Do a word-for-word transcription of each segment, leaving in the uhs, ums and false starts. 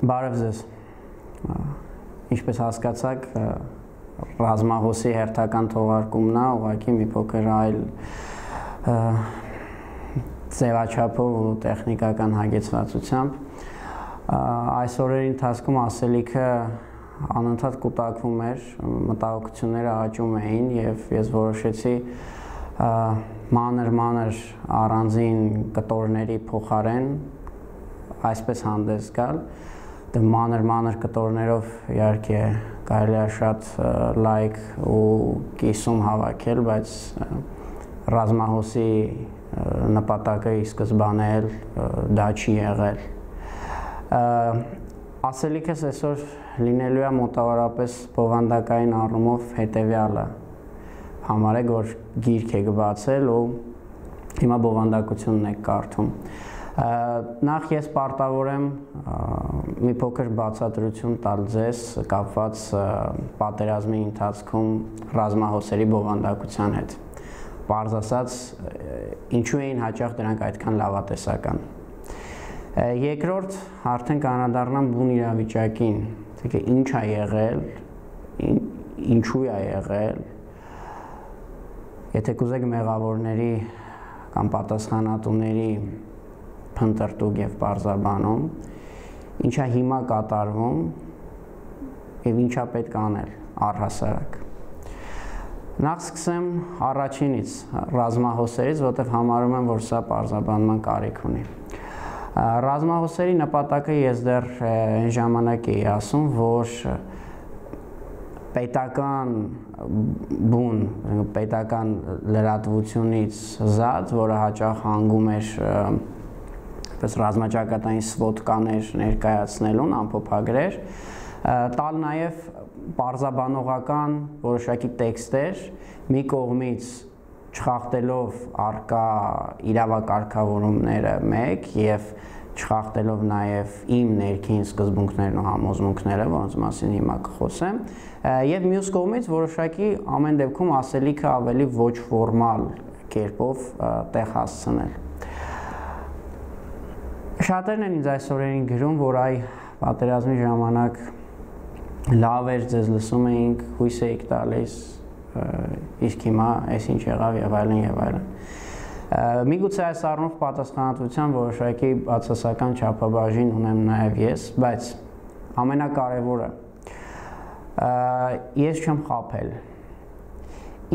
Բարև ձեզ, ինչպես հասկացաք, ռազմահոսի հերթական թողարկումն է, ուղղակի մի փոքր այլ ձևաչափով ու տեխնիկական հագեցվածությամբ։ Այս օրերի ընթացքում ասելիքը անընդհատ կուտակվում էր, մտահոգությունները աճում էին եւ ես որոշեցի մանր-մանր առանձին կտորների փոխարեն այսպես հանդես գալ։ Մանր-մանր կտորներով իհարկե կարելի է շատ լայք ու կիսում հավաքել, բայց ռազմահոսի նպատակը ի սկզբանե էլ դա չի եղել։ Ասելիքս այսօր լինելու է մոտավորապես բովանդակային առումով հետևյալը։ Համարեք, որ գիրք եք բացել ու հիմա բովանդակությունն եք կարդում։ Նախ ես պարտավոր եմ մի փոքր բացատրություն տալ ձեզ կապված պատերազմի ընթացքում ռազմահոսերի բովանդակության հետ։ Պարզ ասած, ինչու էին հաճախ դրանք այդքան լավատեսական։ Երկրորդ, արդեն կանադառնամ բուն իրավիճակին, թե ինչ է եղել, ինչու է եղել։ Եթե կուզեք մեղավորների կամ պատասխանատուների փնտրտուք եւ պարզաբանում, ինչա հիմա կատարվում եւ ինչա պետք անել առհասարակ։ Նախ սկսեմ առաջինից, ռազմահոսերից, որտեղ համարում եմ, որ սա պարզաբանման կարիք ունի։ Ռազմահոսերի նպատակը ես դեռ այն ժամանակ էի ասում, որ պետական բուն, պետական լրատվությունից զատ, որը հաճախ հանգում էր ռազմաճակատային սվոտկաներ ներկայացնելուն, ամփոփագրեր, տալ նաև պարզաբանողական որոշակի տեքստեր, մի կողմից չխախտելով առկա իրավակարգավորումները մեկ եւ չխախտելով նաև իմ ներքին սկզբունքներն ու համոզմունքները, որոնց մասին հիմա կխոսեմ, եւ մյուս կողմից որոշակի ամեն դեպքում ասելիքը ավելի ոչ ֆորմալ կերպով տեղ հասցնել։ Շատերն են ինձ այս օրերին գրում, որ այ պատերազմի ժամանակ լավ էր, ձեզ լսում էինք, հույս էիք տալիս, իսկ հիմա այս ինչ եղավ եւ այլն եւ այլն։ Միգուցե այս առումով պատասխանատվության որոշակի բացասական չափաբաժին ունեմ նաեւ ես, բայց ամենակարևորը ես չեմ խաբել։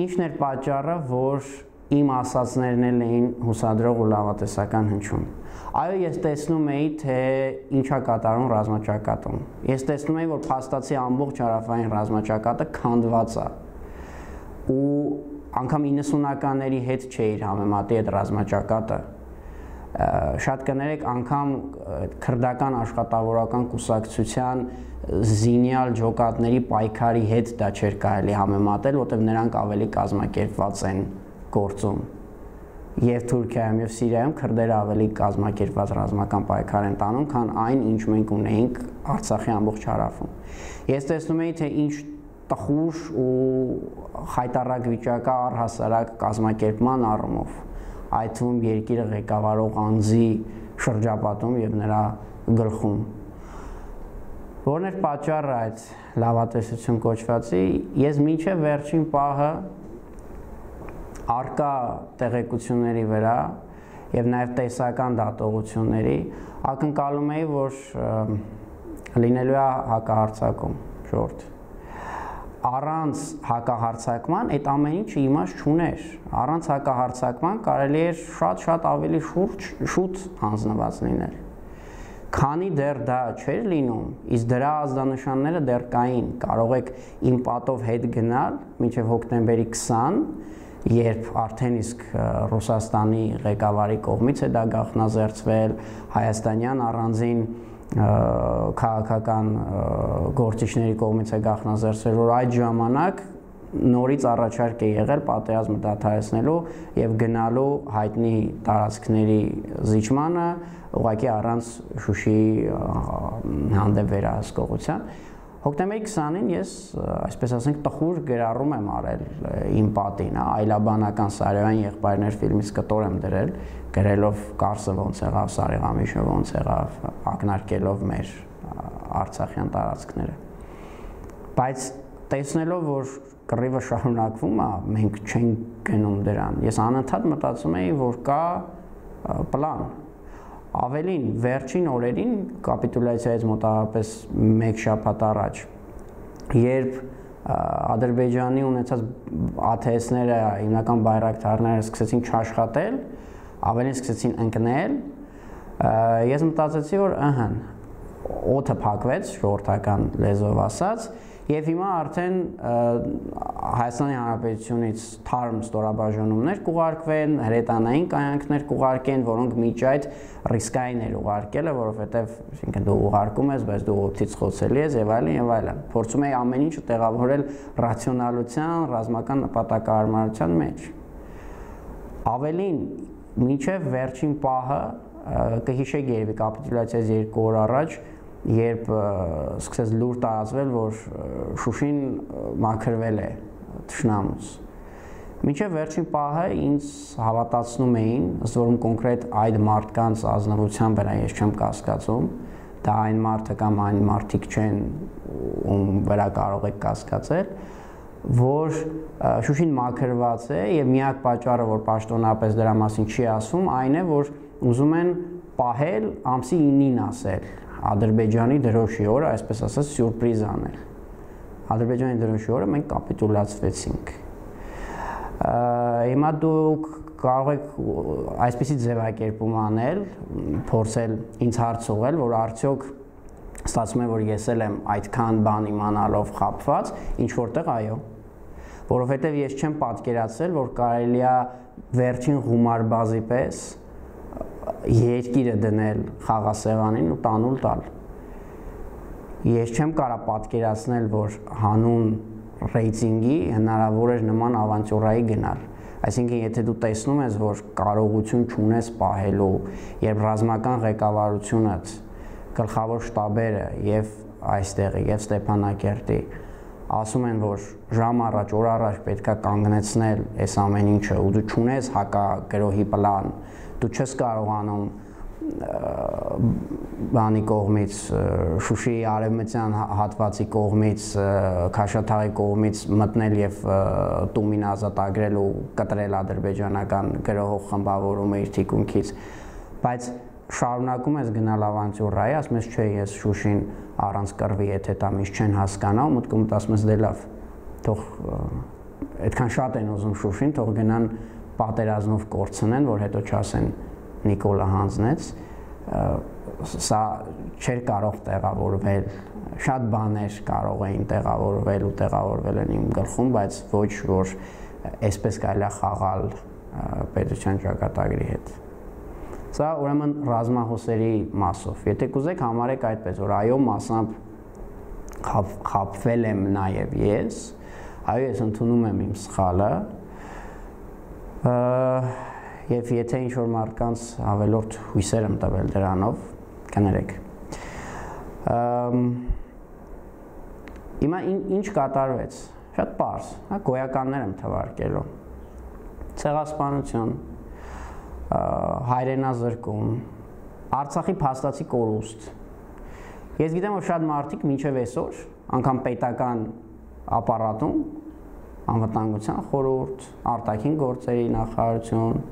Ինչն էր պատճառը, որ իմ ասածներն էին հուսադրող ու լավատեսական հնչում։ Այո, ես տեսնում էի, թե ինչա կատարում ռազմաճակատում։ Ես տեսնում էի, որ փաստացի ամբողջ հարավային ռազմաճակատը քանդված է։ Ու անգամ իննսունականների հետ չէր համեմատի այդ ռազմաճակատը։ Շատ կներեք, անգամ քրդական աշխատավորական կուսակցության զինյալ ջոկատների պայքարի հետ դա չէր կարելի համեմատել, որտեղ նրանք ավելի կազմակերպված են գործում։ Եվ Թուրքիայում եւ Սիրիայում քրդերը ավելի կազմակերպված ռազմական պայքար են տանում, քան այն, ինչ մենք ունեինք Արցախի ամբողջ հարավում։ Ես տեսնում էի, թե ինչ տխուր ու խայտառակ վիճակա առհասարակ կազմակերպման առումով, այդ թվում երկիրը ղեկավարող անձի շրջապատում եւ նրա գլխում։ Որն էր պատճառը այդ լավատեսություն կոչվածի, ես մինչև վերջին պահը արկա տեղեկությունների վրա եւ նաեւ տեսական դատողությունների ակնկալում էի, որ լինելու է հակահարձակում, շորտ։ Առանց հակահարձակման այդ ամեն ինչը իմաստ չուներ։ Առանց հակահարձակման կարելի էր շատ-շատ ավելի շուրջ շուտ հանձնված լինել։ Քանի դեռ դա չէր լինում, իսկ դրա ազդանշանները դեռ կային, կարող եք իմ պատով հետ գնալ մինչև հոկտեմբերի քսան, երբ արդեն իսկ Ռուսաստանի ղեկավարի կողմից է դա գաղտնազերծվել, հայաստանյան առանձին քաղաքական գործիչների կողմից է գաղտնազերծվել, որ այդ ժամանակ նորից առաջարկ է եղել պատերազմը դադարեցնելու եւ գնալու հայտնի տարածքների զիջմանը, ուղղակի առանց Շուշիի հանդեպ վերահսկողության։ Հոկտեմբերի քսանին ես, այսպես ասենք, տխուր գրառում եմ արել իմ պատին, այլաբանական Սարոյան եղբայրներ ֆիլմից կտոր եմ դրել, գրելով Կարսը ոնց եղավ, Սարեգամիշը ոնց եղավ, ակնարկելով մեր արցախյան տարածքները։ Բայց տեսնելով, որ կռիվը շարունակվում է, մենք չենք գնում դրան։ Ես անընդհատ մտածում էի, որ կա պլան։ Ավելին, վերջին օրերին կապիտուլյացիայից մոտավորապես մեկ շաբաթ առաջ, երբ Ադրբեջանի ունեցած A T S-ները, հիմնական բայրակտարները սկսեցին չաշխատել, ավելին սկսեցին ընկնել, ես մտածեցի, որ ըհը, օդը փակվեց, ժողովրդական լեզվով ասած, եւ հիմա արդեն Հայաստանի Հանրապետությունից թարմ ստորաբաժանումներ կուղարկվեն, հրետանային կայանքներ կուղարկեն, որոնք միջ այդ ռիսկային էր ուղարկելը, որովհետեւ այսինքն դու ուղարկում ես, բայց դու օդից խոցելի ես եւ այլն եւ այլն։ Փորձում էի ամեն ինչը տեղավորել ռացիոնալության, ռազմական նպատակահարմարության մեջ։ Ավելին, մինչև վերջին պահը կհիշեք երևի կապիտուլյացիայից երկու օր առաջ, երբ սկսեց լուր տարածվել, որ Շուշին մաքրվել է թշնամուց։ Մինչև վերջին պահը ինձ հավատացնում էին, ըստ որում կոնկրետ այդ մարդկանց ազնվության վրա ես չեմ կասկածում, դա այն մարդը կամ այն մարդիկ չեն, ում վրա կարող եք կասկածել, որ Շուշին մաքրված է եւ միակ պատճառը, որ պաշտոնապես դրա մասին չի ասում, այն է, որ ուզում են պահել ամսի ինին ասել Ադրբեջանի դրոշի օրը, այսպես ասած, սյուրպրիզ անել։ Ադրբեջանի դրոշի օրը մենք կապիտուլացվեցինք։ Հիմա դուք կարող եք այսպիսի ձևակերպում անել, փորձել ինձ հարց ուղղել, որ արդյոք ստացվում է, որ ես էլ եմ այդքան բան իմանալով խաբված, ինչ որտեղ այո։ Որովհետև ես չեմ պատկերացրել, որ կարելի է վերջին գումարբազի պես երկիրը դնել խաղասեղանին ու տանուլ տալ։ Ես չեմ կարող պատկերացնել, որ հանուն ռեյտինգի հնարավոր էր նման ավանտյուրայի գնալ։ Այսինքն, եթե դու տեսնում ես, որ կարողություն չունես պահելու, երբ ռազմական ղեկավարությունը, գլխավոր շտաբերը եւ այստեղի եւ Ստեփանակերտի ասում են, որ ժամ առաջ, օր առաջ պետք է կանգնեցնել այս ամեն ինչը, ու դու չունես հակագրոհի պլան, դու չես կարողանում բանի կողմից, Շուշիի արևմտյան հատվածի կողմից, Քաշաթաղի կողմից մտնել եւ Տումին ազատագրել ու կտրել ադրբեջանական գրոհող խմբավորումը իր թիկունքից, բայց շարունակում ես գնալ ավանտյուրայի, ասում ես չէ, ես Շուշին առանց կռվի, եթե դա միշտ չեն հասկանա, ու մտքում ասում ես դե լավ, թող այդքան շատ են ուզում Շուշին, թող գնան պատերազմով կորցնեն, որ հետո չասեն Նիկոլը հանձնեց, սա չէր կարող տեղավորվել, շատ բաներ կարող էին տեղավորվել ու տեղավորվել են իմ գլխում, բայց ոչ որ այսպես կարելի է խաղալ պետության ճակատագրի հետ։ Սա ուրեմն ռազմահոսերի մասով։ Եթե կուզեք համարեք այդպես, որ այո, մասամբ խաբվել եմ նաև ես, այո, ես ընդունում եմ իմ սխալը, եւ եթե ինչ-որ մարդկանց ավելորդ հույսեր եմ տվել դրանով, կներեք։ Հիմա ինչ կատարվեց։ Շատ պարզ, հա, գոյականներ եմ թվարկելու։ Ցեղասպանություն, հայրենազրկում, Արցախի փաստացի կորուստ։ Ես գիտեմ, որ շատ մարդիկ մինչև այսօր, անգամ պետական ապարատում, անվտանգության խորհուրդ, արտաքին գործերի նախարարություն,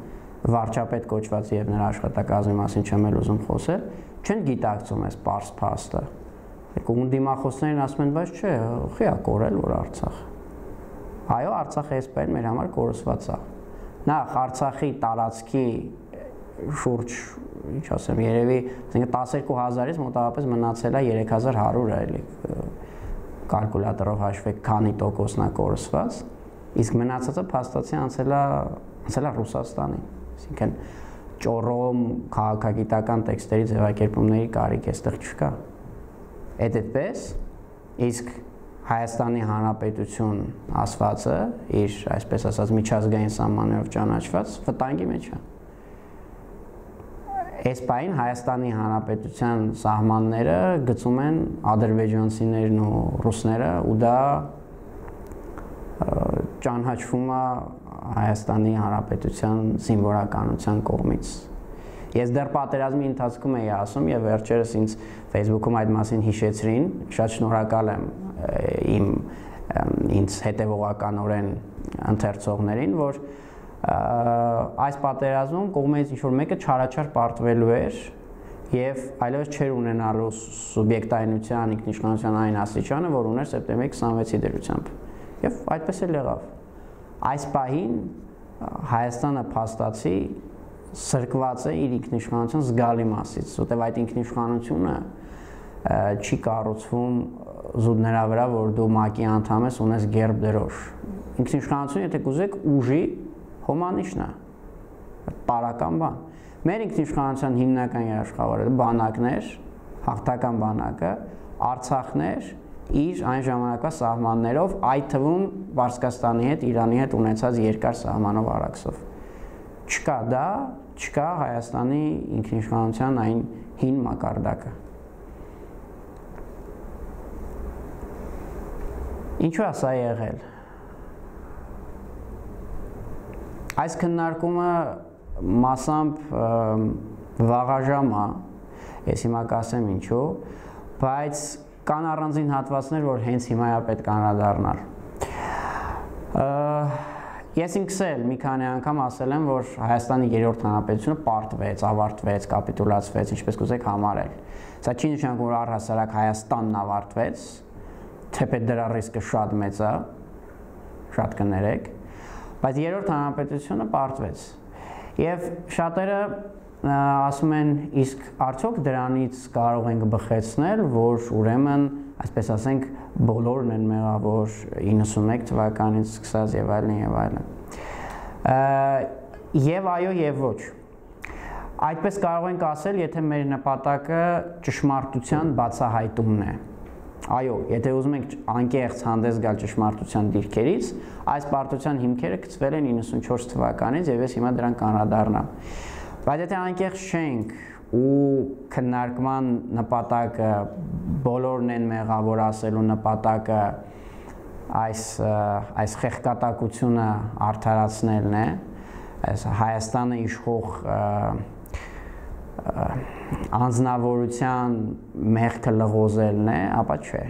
վարչապետ կոչված եւ նրա աշխատակազմի մասին չեմ էլ ուզում խոսել, չեն գիտակցում այս պարզ փաստը։ Եկում դիմախոսներին ասում են, բայց չէ, խի է կորել որ Արցախ։ Այո, Արցախը այսպես մեր համար կորսված է։ Նախ Արցախի տարածքի շուրջ, ինչ ասեմ, երևի տասներկու հազարից մոտավորապես մնացել է երեք հազար հարյուր, էլի կալկուլյատորով հաշվեք, քանի տոկոսն է կորսված, իսկ մնացածը փաստացի անցել է անցել է Ռուսաստանին։ Այսինքն ճոռոմ քաղաքագիտական տեքստերի ձևակերպումների կարիք այստեղ չկա։ Այդ այդպես, իսկ Հայաստանի Հանրապետություն ասվածը իր, այսպես ասած, միջազգային սահմաններով ճանաչված վտանգի մեջ է։ Այս պահին Հայաստանի Հանրապետության սահմանները գծում են ադրբեջանցիներն ու ռուսները, ու դա ճանաչվում է Հայաստանի Հանրապետության զինվորականության կողմից։ Ես դեռ պատերազմի ընթացքում էի ասում եւ վերջերս ինձ Facebook-ում այդ մասին հիշեցրին, շատ շնորհակալ եմ իմ ինձ հետևողականորեն ընթերցողներին, որ այս պատերազմում կողմից ինչ-որ մեկը չարաչար պարտվելու էր եւ այլևս չէր ունենալու սուբյեկտայնության, ինքնիշխանության այն աստիճանը, որ ուներ սեպտեմբերի քսանվեցի դրությամբ։ Եվ այդպես էլ եղավ։ Այս պահին Հայաստանը փաստացի սրկված է իր ինքնիշխանության զգալի մասից, որտեղ այդ ինքնիշխանությունը չի կառուցվում զուտ նրա վրա, որ դու ՄԱԿ-ի անդամ ես, ունես գերբ դրոշ։ Ինքնիշխանությունը, եթե կուզեք, ուժի հոմանիշն է, պարական բան։ Մեր ինքնիշխանության հիմնական երաշխավորը բանակներ, հաղթական բանակը, Արցախն էր իր այն ժամանակվա սահմաններով, այդ թվում Պարսկաստանի հետ, Իրանի հետ ունեցած երկար սահմանով առաքսով։ Չկա դա, չկա Հայաստանի ինքնիշխանության այն հին մակարդակը։ Ինչու է սա եղել։ Այս քննարկումը մասամբ վաղաժամ է, ես հիմա կասեմ ինչու, բայց կան առանձին հատվածներ, որ հենց հիմա է պետք անդրադառնալ։ Ես ինքս էլ մի քանի անգամ ասել եմ, որ Հայաստանի երրորդ հանրապետությունը պարտվեց, ավարտվեց, կապիտուլացվեց, ինչպես կուզեք համարել։ Սա չի նշանակում, որ առհասարակ Հայաստանն ավարտվեց, թեպետ դրա ռիսկը շատ մեծ է, շատ կներեք, բայց երրորդ հանրապետությունը պարտվեց։ Եվ շատերը ասում են, իսկ արդյոք դրանից կարող ենք բխեցնել, որ ուրեմն, այսպես ասենք, բոլորն են մեղավոր իննսունմեկ թվականից սկսած եւ այլն եւ այլն։ Եվ այո եւ ոչ։ Այդպես կարող ենք ասել, եթե մեր նպատակը ճշմարտության բացահայտումն է։ Այո, եթե ուզում ենք անկեղծ հանդես գալ ճշմարտության դիրքերից, այս պարտության հիմքերը գծվել են իննսունչորս թվականից եւ ես հիմա դրան կանրադառնամ։ Բայց եթե անկեղծ չենք ու քննարկման նպատակը բոլորն են մեղավոր ասելու նպատակը այս այս խեղկատակությունը արդարացնելն է, այս Հայաստանը իշխող անձնավորության մեղքը լղոզելն է, ապա չէ։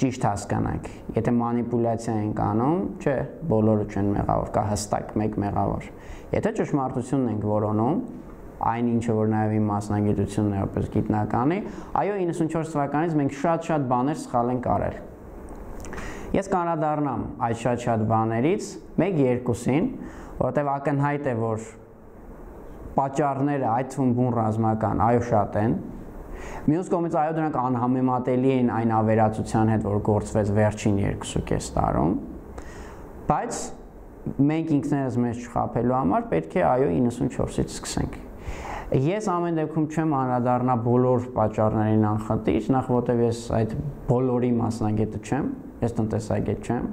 Ճիշտ հասկանանք, եթե մանիպուլյացիա ենք անում, չէ, բոլորը չեն մեղավոր, կա հստակ մեկ մեղավոր։ Եթե ճշմարտությունն ենք որոնում, այն ինչը որ նաև իմ մասնագիտությունն է որպես գիտնականի, այո, իննսունչորս թվականից մենք շատ-շատ բաներ սխալ ենք արել։ Ես կանրադառնամ այդ շատ-շատ բաներից մեկ-երկուսին, որովհետև ակնհայտ է, որ պատճառները այդ թվում բուն ռազմական, այո, շատ են։ Մյուս կողմից այո, դրանք անհամեմատելի են այն ավերածության հետ, որ գործվեց վերջին երկուսուկես տարում, բայց մենք ինքներս մեզ չխաբելու համար պետք է այո իննսունչորսից սկսենք։ Ես ամեն դեպքում չեմ անդրադառնա բոլոր պատճառներին անխտիր, նախ որտև ես այդ բոլորի մասնագետը չեմ, ես տնտեսագետ չեմ,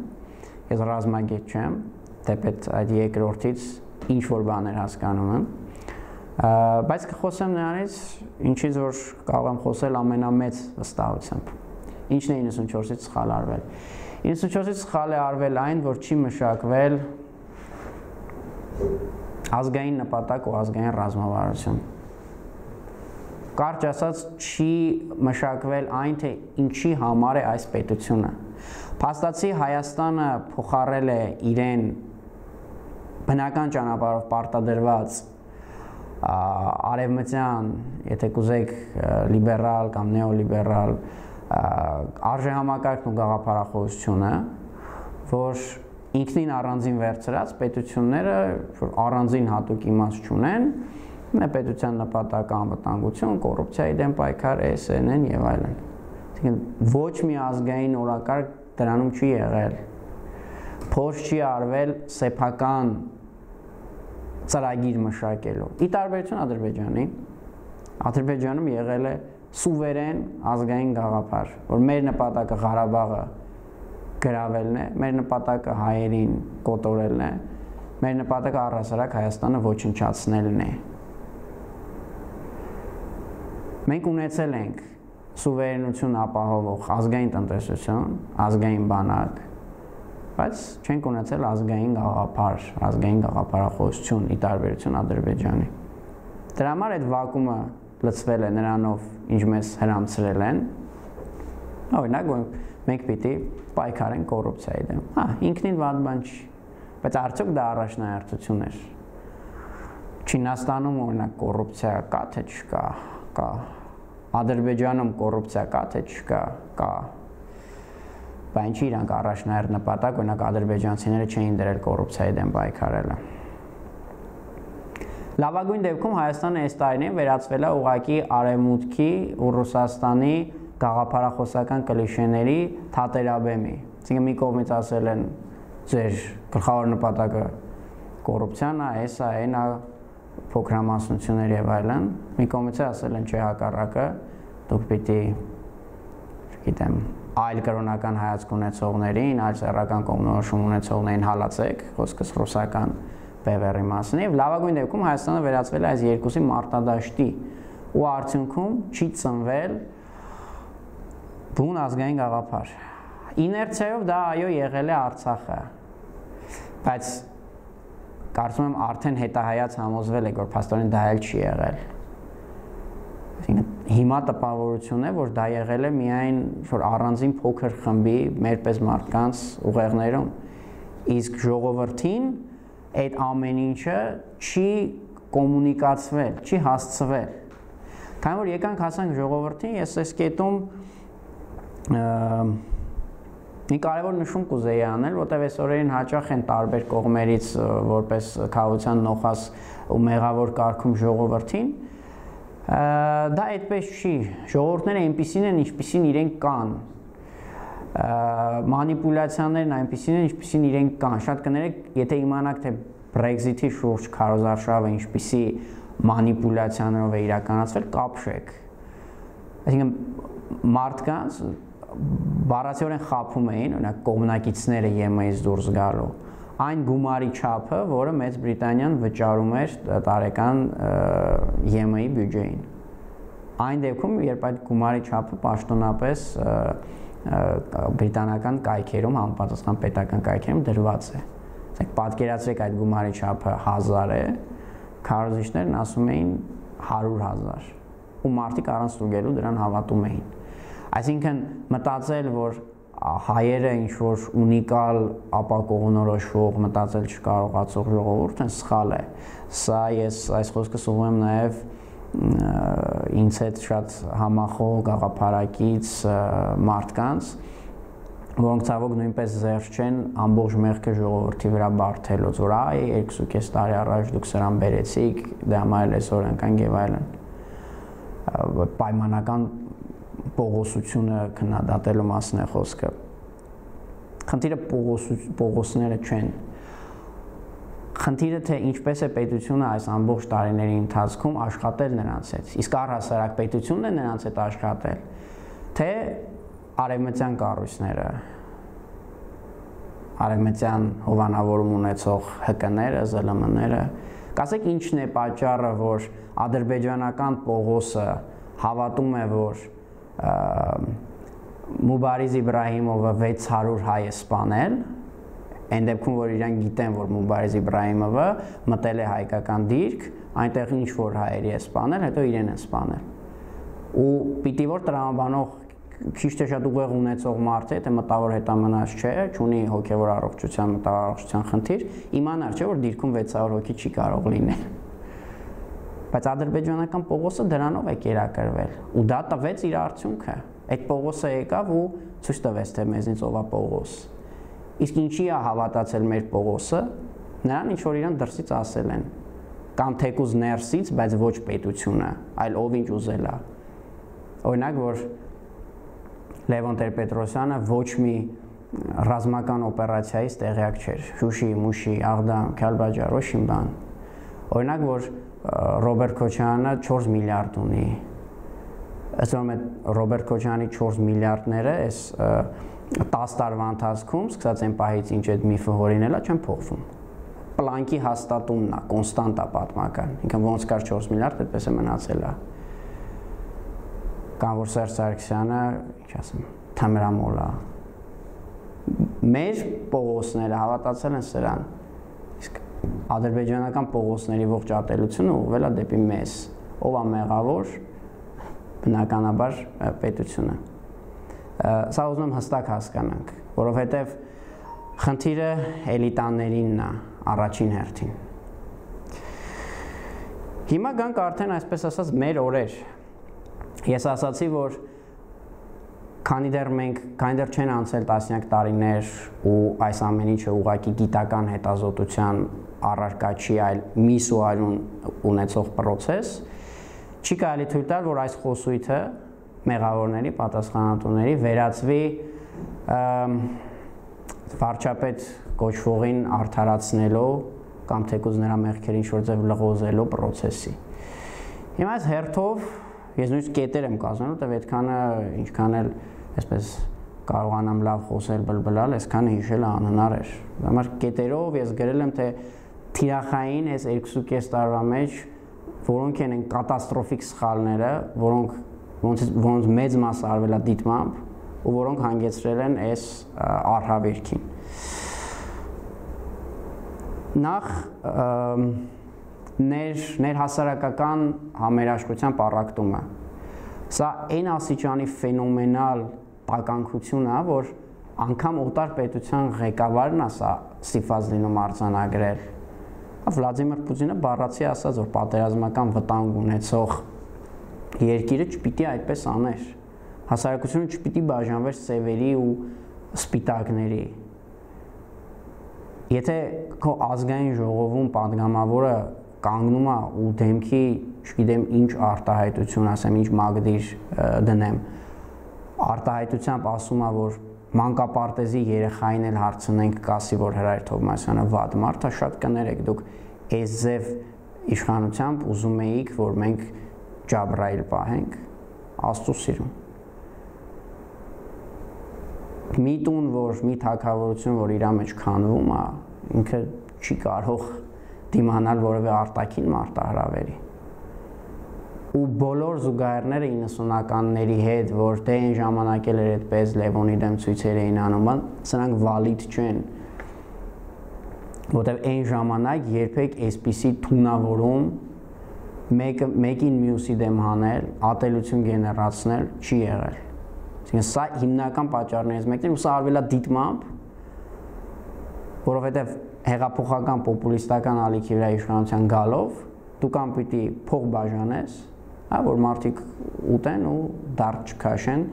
ես ռազմագետ չեմ, թեպետ այդ երկրորդից ինչ որ բաներ հասկանում եմ, բայց կխոսեմ նրանից, ինչից որ կարող եմ խոսել ամենամեծ վստահությամբ։ Ինչն է իննսունչորսից սխալ արվել։ իննսունչորսից սխալ է արվել այն, որ չի մշակվել ազգային նպատակ ու ազգային ռազմավարություն։ Կարճ ասած, չի մշակվել այն, թե ինչի համար է այս պետությունը։ Փաստացի Հայաստանը փոխարել է իրեն բնական ճանապարհով պարտադրված արևմտյան, եթե կուզեք լիբերալ կամ նեոլիբերալ արժեհամակարգն ու գաղափարախոսությունը, որ ինքնին առանձին վերցրած պետությունները առանձին հատուկ իմաստ չունեն, պետության նպատակը անվտանգություն, կոռուպցիայի դեմ պայքար, էս են են եւ այլն։ Այսինքն ոչ մի ազգային օրակարգ դրանում չի եղել։ Փորձ չի արվել սեփական ծրագիր մշակելու։ Ի տարբերություն Ադրբեջանի, Ադրբեջանում եղել է սուվերեն ազգային գաղափար, որ մեր նպատակը Ղարաբաղը գրավելն է, մեր նպատակը հայերին կոտորելն է, մեր նպատակը առհասարակ Հայաստանը ոչնչացնելն է։ Մենք ունեցել ենք սուվերենություն ապահովող ազգային տնտեսություն, ազգային բանակ, բայց չենք ունեցել ազգային գաղափար, ազգային գաղափարախոսություն ի տարբերություն Ադրբեջանի։ Դրա համար այդ վակուումը լցվել է նրանով, ինչ մեզ հրամցրել են։ Օրինակ, մենք պիտի պայքարենք կոռուպցիայի դեմ։ Հա, ինքնին վատ բան չի, բայց արդյոք դա առաջնահերթություն էր։ Չինաստանում օրինակ կոռուպցիա կա թե չկա, կա։ Ադրբեջանում կոռուպցիա կա թե չկա, կա։ Բայց ինչի իրանք առաջնահերթ նպատակ, օրինակ ադրբեջանցիները չէին դրել կոռուպցիայի դեմ պայքարելը։ Լավագույն դեպքում Հայաստանը այս տարիներին վերածվել է ուղղակի Արևմուտքի ու Ռուսաստանի գաղափարախոսական կլիշեների թատերաբեմի։ Այսինքն մի կողմից ասել են ձեր գլխավոր նպատակը կոռուպցիան է, էսա, այնա, փոքրամասնություններ եւ այլն, մի կողմից ասել են չէ հակառակը, դուք պիտի, չգիտեմ, այլ կրոնական հայացք ունեցողներին, այլ սեռական կողմնորոշում ունեցողներին հալածեք, խոսքս ռուսական բևեռի մասին, եւ լավագույն դեպքում Հայաստանը վերածվել է այս երկուսի մարտադաշտի ու արդյունքում չի ծնվել բուն ազգային գաղափար։ Իներցիայով դա այո եղել է Արցախը, բայց կարծում եմ արդեն հետահայաց համոզվել եք, որ փաստորեն դա էլ չի եղել։ Հիմա տպավորություն է, որ դա եղել է միայն որ առանձին փոքր խմբի մեր պես մարդկանց ուղեղներում, իսկ ժողովրդին այդ ամեն ինչը չի կոմունիկացվել, չի հասցվել։ Քանի որ եկանք հասանք ժողովրդին, ես այս կետում մի կարևոր նշում կուզեի անել, որտեղ այս օրերին հաճախ են տարբեր կողմերից որպես քաղաքության նոխազ ու մեղավոր կարգում ժողովրդին, դա այդպես չի, ժողովուրդները այնպիսին են, ինչպիսին իրենք կան, մանիպուլյացիաներն այնպիսին են, ինչպիսին իրենք կան, շատ կներեք, եթե իմանաք, թե Brexit-ի շուրջ քարոզարշավը ինչպիսի մանիպուլյացիաներով է իրականացվել, կապշեք, այսինքն մարդկանց բառացիորեն խաբում էին, օրինակ կողմնակիցները ԵՄ-ից դուրս գալու, այն գումարի չափը, որը Մեծ Բրիտանիան վճարում էր տարեկան ԵՄ-ի բյուջեին։ Այն դեպքում, երբ այդ գումարի չափը պաշտոնապես բրիտանական կայքերում, համապատասխան պետական կայքերում դրված է։ Պատկերացրեք այդ գումարի չափը հազար է, քարոզիչներն ասում էին հարյուր հազար, ու մարդիկ առանց ստուգելու դրան հավատում էին։ Այսինքն մտածել, որ հայերը ինչ-որ ունիկալ ապակողնորոշվող, մտածել չկարողացող ժողովուրդ են, սխալ է։ Սա ես այս խոսքս ուղղում եմ նաև ինձ հետ շատ համախոհ գաղափարակից մարդկանց, որոնք ցավոք նույնպես զերծ չեն ամբողջ մեղքը ժողովրդի վրա բարթելուց, որ այ երկուսուկես տարի առաջ դուք սրան բերեցիք, դե համար այսօր ընկանք եւ այլն։ Պայմանական պողոսությունը քննադատելու մասն է խոսքը։ Խնդիրը պողոսները չեն։ Խնդիրը թե ինչպես է պետությունը այս ամբողջ տարիների ընթացքում աշխատել նրանց հետ, իսկ առհասարակ պետությունն է նրանց հետ աշխատել, թե արևմտյան կառույցները, արևմտյան հովանավորում ունեցող ՀԿ-ները, ԶԼՄ-ները, կասեք ինչն է պատճառը, որ ադրբեջանական Պողոսը հավատում է, որ Մուբարիզ Իբրահիմովը վեց հարյուր հայ է սպանել, այն դեպքում, որ իրանք գիտեն, որ Մուբարիզ Իբրահիմովը մտել է հայկական դիրք, այնտեղ ինչ որ հայերի է սպանել, հետո իրեն են սպանել։ Ու պիտի որ տրամաբանող քիչ թե շատ ուղեղ ունեցող մարդ է, թե մտավոր հետամնաց չէ, չունի հոգևոր առողջության, մտավոր առողջության խնդիր, իմանար չէ, որ դիրքում վեց հարյուր հոգի չի կարող լինել։ Բայց ադրբեջանական Պողոսը դրանով է կերակրվել, ու դա տվեց իր արդյունքը։ Այդ Պողոսը եկավ ու ցույց տվեց, թե մեզնից ով է Պողոս։ Իսկ ինչի է հավատացել մեր Պողոսը, նրան ինչ որ իրան դրսից ասել են, կամ թեկուզ ներսից, բայց ոչ պետությունը, այլ ով ինչ ուզել է։ Օրինակ, որ Լևոն Տեր-Պետրոսյանը ոչ մի ռազմական օպերացիայից տեղյակ չէր, Շուշի, Մուշի, Աղդամ, Քալբաջար, Ռոշինբան։ Օրինակ, որ Ռոբերտ Քոչարյանը չորս միլիարդ ունի։ Ըստ ուրեմն Ռոբերտ Քոչարյանի չորս միլիարդները այս տասը տարվա ընթացքում, սկսած այն պահից, ինչ այդ միֆը հորինելա, չեն փոխվում։ Պլանկի հաստատումն է, կոնստանտ է պատմական։ Ինքն ոնց կար չորս միլիարդ, այդպես է մնացել է։ Կամ որ Սերժ Սարգսյանը, ինչ ասեմ, թմրամոլ է։ Մեր Պողոսները հավատացել են սրան, իսկ ադրբեջանական Պողոսների ողջ ատելությունը ուղղվել է դեպի մեզ, ով է մեղավոր, բնականաբար պետությունը։ Սա ուզում եմ հստակ հասկանանք, որովհետև խնդիրը էլիտաներինն է առաջին հերթին։ Հիմա գանք արդեն այսպես ասած մեր օրեր։ Ես ասացի, որ քանի դեռ մենք, քանի դեռ չեն անցել տասնյակ տարիներ ու այս ամեն ինչը ուղղակի գիտական հետազոտության առարկա չի, այլ միս ու այլուն ունեցող process, չի կարելի թույլ տալ, որ այս խոսույթը մեղավորների, պատասխանատուների վերածվի վարչապետ կոչվողին արդարացնելով կամ թեկուզ նրա մեղքերին ինչ-որ ձև լղոզելու process-ի։ Հիմա այս հերթով ես նույնիսկ կետեր եմ կազմել, որտեղ այդքանը ինչքան էլ այսպես կարողանամ լավ խոսել, բլբլալ, այսքանը հիշելը անհնար էր։ Համար կետերով ես գրել եմ, թե թիրախային այս երկու կես տարվա մեջ որոնք են կատաստրոֆիկ սխալները, որոնք որոնց մեծ մասը արվել է դիտմամբ ու որոնք հանգեցրել են այս արհավիրքին։ Նախ ներ ներհասարակական համերաշխության պառակտումը։ Սա այն աստիճանի ֆենոմենալ տականքություն է, որ անգամ օտար պետության ղեկավարն է սա ստիպված լինում արձանագրել։ Վլադիմիր Պուտինը բառացի ասաց, որ պատերազմական վտանգ ունեցող երկիրը չպիտի այդպես աներ։ Հասարակությունը չպիտի բաժանվեր սևերի ու սպիտակների։ Եթե քո ազգային ժողովում պատգամավորը կանգնում է ու դեմքի, չգիտեմ, ինչ արտահայտություն ասեմ, ինչ մագդիր դնեմ, արտահայտությամբ ասում է, որ մանկապարտեզի երեխային էլ հարցնենք, կասի, որ Հրայր Թովմասյանը վատ մարդ է, շատ կներեք, դուք այս ձև իշխանությամբ ուզում էիք, որ մենք Ջաբրայիլ պահենք, Աստծո սիրուն։ Մի տուն, որ մի թագավորություն, որ իր մեջ քանվում է, ինքը չի կարող դիմանալ որևէ արտաքին մարտահրավերի։ Ու բոլոր զուգահեռները իննսունականների հետ, որ դե այն ժամանակ էլ էր այդպես Լևոնի դեմ ցույցեր էին անում, սրանք վալիդ չեն։ Որտեւ այն ժամանակ երբեք այսպիսի թունավորում մեկը մեկին մյուսի դեմ հանել, ատելություն գեներացնել չի եղել։ Այսինքն սա հիմնական պատճառներից մեկն է, ու սա արվել է դիտմամբ, որովհետեւ հեղափոխական պոպուլիստական ալիքի վրա իշխանության գալով դու կամ պիտի փող բաժանես, հա, որ մարդիկ ուտեն ու դարձ չքաշեն,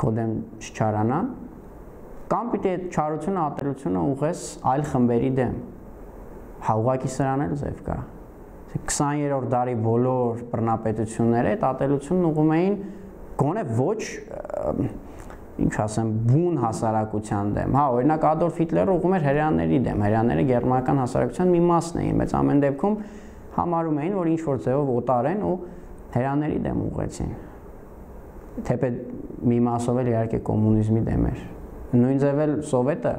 քո դեմ չչարանան, կամ պիտի այդ չարությունը, ատելությունը ուղես այլ խմբերի դեմ։ Հա ուղղակի սրան էլ ձև կա։ քսաներորդ դարի բոլոր բռնապետությունները այդ ատելությունն ուղղում էին գոնե ոչ, ինչ ասեմ, բուն հասարակության դեմ։ Հա, օրինակ Ադոլֆ Հիտլերը ուղղում էր հրեաների դեմ, հրեաները գերմանական հասարակության մի մասն էին, բայց ամեն դեպքում համարում էին, որ ինչ որ ձևով օտար են ու հրեաների դեմ ուղղեցին։ Թեպետ մի մասով էլ իհարկե կոմունիզմի դեմ էր։ Նույն ձև էլ Սովետը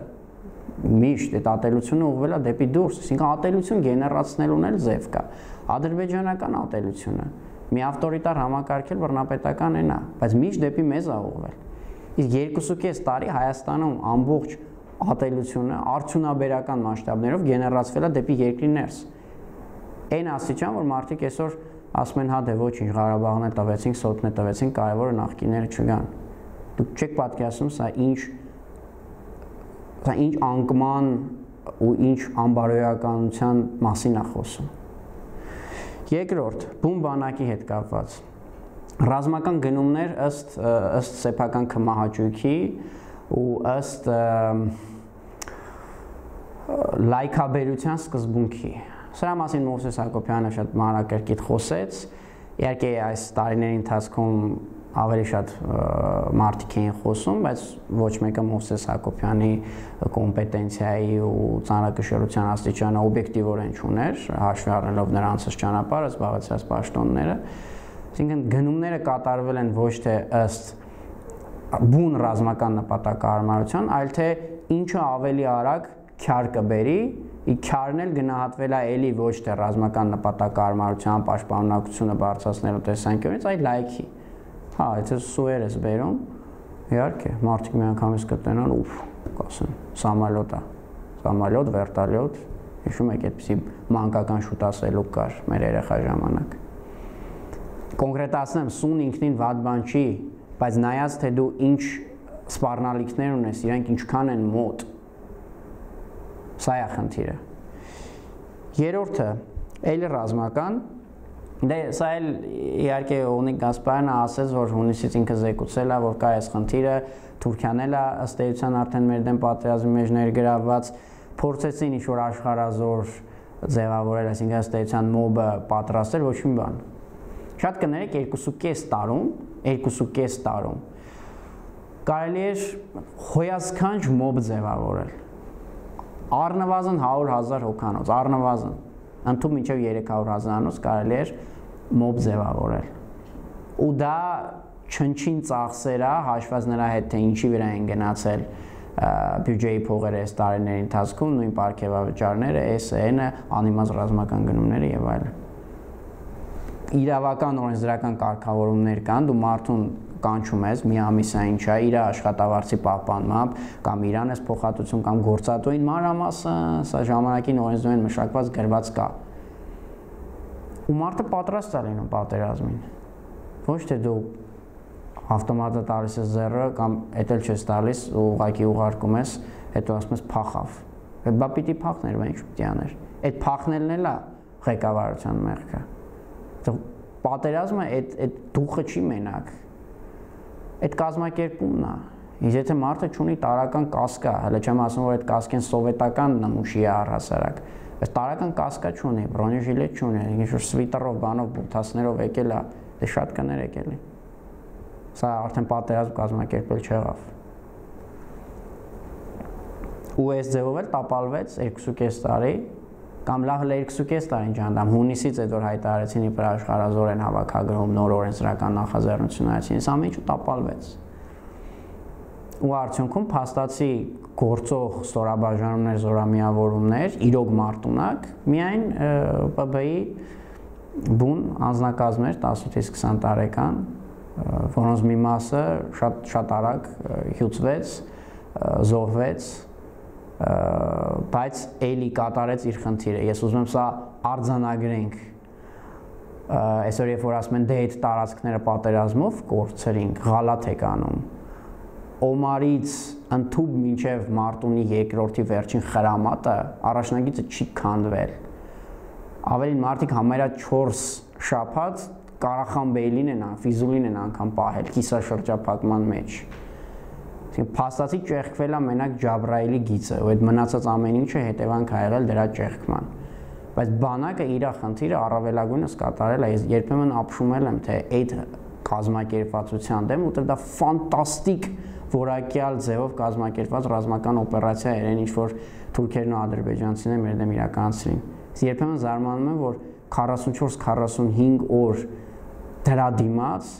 միշտ այդ ատելությունը ուղղվել է դեպի դուրս, այսինքն ատելություն գեներացնելուն էլ ձև կա։ Ադրբեջանական ատելությունը մի ավտորիտար համակարգել բռնապետական են է, բայց միշտ դեպի մեզ է ուղղվել։ Իսկ երկուսուկես տարի Հայաստանում ամբողջ ատելությունը արդյունաբերական մասշտաբներով գեներացվել է դեպի երկրի ներս։ Այն աստիճան, որ մարդիկ այսօր ասում են, հա դե ոչինչ, Ղարաբաղն է տվեցինք, Սոտն է տվեցինք, կարևորը նախկինները չգան։ Դուք չեք պատկերացնում, սա ինչ սա ինչ անկման ու ինչ անբարոյականության մասին է խոսում։ Երկրորդ, բուն բանակի հետ կապված։ Ռազմական գնումներ ըստ ըստ սեփական քմահաճույքի ու ըստ լայքաբերության սկզբունքի։ Սրա մասին Մովսես Հակոբյանը շատ մանրակրկիտ խոսեց։ Իհարկե այս տարիների ընթացքում ավելի շատ մարդիկ էին խոսում, բայց ոչ մեկը Մովսես Հակոբյանի կոմպետենցիայի ու ծանրակշռության աստիճանը օբյեկտիվորեն չուներ, հաշվի առնելով նրանց ճանապարհը, զբաղեցրած պաշտոնները։ Այսինքն գնումները կատարվել են ոչ թե ըստ բուն ռազմական նպատակահարմարության, այլ թե ինչը ավելի արագ քյար կբերի, ի քյարն էլ գնահատվել է էլի ոչ թե ռազմական նպատակահարմարության պաշտպանունակությունը բարձրացնելու տեսանկյունից, այլ լայքի։ Հա, եթե սուեր ես բերում, Իհարկե, մարդիկ միանգամից կտենան, ուֆ, կասեն, սամալյոտ է, սամալյոտ, վերտալյոտ, հիշում եք այդպիսի մանկական շուտասելուկ կար մեր երեխա ժամանակ։ Կոնկրետացնեմ, սուն ինքնին վատ բան չի, բայց նայած թե դու ինչ սպառնալիքներ ունես, իրանք ինչքան են մոտ, սա է խնդիրը։ Երրորդը, էլի ռազմական, դե սա էլ իհարկե Օնիկ Գասպարյանը ասեց, որ հունիսից ինքը զեկուցել է, որ կա այս խնդիրը, Թուրքիան էլ է ըստ էության արդեն մեր դեմ պատերազմի մեջ ներգրավված, փորձեցին ինչ-որ աշխարհազոր ձևավորել, այսինքն ըստ էության մոբը պատրաստել, ոչ մի բան։ Շատ կներեք երկուսուկես տարում, երկուսուկես տարում կարելի էր հոյասքանչ մոբ ձևավորել։ Առնվազն հարյուր հազար հոգանոց, առնվազն, ընդհանուր մինչև երեք հարյուր հազարանոց կարելի էր մոբ ձևավորել։ Ու դա չնչին ծախսեր է, հաշված նրա հետ, թե ինչի վրա են գնացել բյուջեի փողերը այս տարիների ընթացքում, նույն պարգևավճարները, էս էնը, անիմաց ռազմական գնումները եւ այլն։ Իրավական օրենսդրական կարգավորումներ կան, դու մարդուն կանչում ես, մի ամիսա ինչ է, իր աշխատավարձի պահպանմամբ, կամ իրան ես փոխհատուցում, կամ գործատուին մանրամասը, սա ժամանակին օրենսդրության մշակված գրված կա։ Ու մարդը պատրաստ է լինում պատերազմին։ Ոչ թե դու ավտոմատը տալիս ես ձեռը, կամ էդ էլ չես տալիս, ու ուղղակի ուղարկում ես, հետո ասում ես փախավ։ Բա պիտի փախներ, բա ինչ պիտի աներ։ Այդ փախնելն էլ է ղեկավարության մեղքը։ Պատերազմը այդ այդ դուխը չի մենակ։ Այդ կազմակերպումն է։ Իսկ եթե մարդը չունի տարական կասկա, հələ չեմ ասում, որ այդ կասկեն սովետական նմուշի է առհասարակ, բայց տարական կասկա չունի, բրոնեժիլետ չունի, ինչ-որ սվիտերով, բանով, բութասներով եկել է, դե շատ կներեք էլի։ Սա արդեն պատերազմ կազմակերպել չեղավ։ Ու այս ձևով էլ տապալվեց երկուսուկես տարի, կամ լավ երկուսուկես տարին ջանդամ, հունիսից այդ որ հայտարարեցին իբր աշխարհազոր են հավաքագրում, նոր օրենսդրական նախաձեռնություն այցին, սա ամեն ինչ տապալվեց։ Ու արդյունքում փաստացի գործող ստորաբաժանումներ, զորամիավորումներ, իրոք մարտունակ, միայն Պ Բ-ի բուն անձնակազմեր տասնութից քսան տարեկան, որոնց մի մասը շատ շատ արագ հյուծվեց, զոհվեց, բայց էլի կատարեց իր խնդիրը։ Ես ուզում եմ սա արձանագրենք, այսօր երբ որ ասում են դե այդ տարածքները պատերազմով կորցրինք, ղալաթ եք անում, Օմարից ընդհուպ մինչև Մարտունի երկրորդի վերջին խրամատը առաջնագիծը չի քանդվել։ Ավելին մարդիկ համարյա չորս շաբաթ Կարախանբեյլին են, Ֆիզուլին են անգամ պահել կիսաշրջափակման մեջ։ Փաստացի ճեղքվել է մենակ Ջաբրայելի գիծը, ու այդ մնացած ամեն ինչը հետևանք ա եղել դրա ճեղքման։ Բայց բանակը իր խնդիրը առավելագույնս կատարել է, ես երբեմն ապշումել եմ, թե այդ կազմակերպվածության դեմ, ուտեղ դա ֆանտաստիկ որակյալ ձևով կազմակերպված ռազմական օպերացիա էր, ինչ որ թուրքերն ու ադրբեջանցիները մեր դեմ իրականացրին։ Ես երբեմն զարմանում եմ, որ քառասունչորս քառասունհինգ օր դրա դիմաց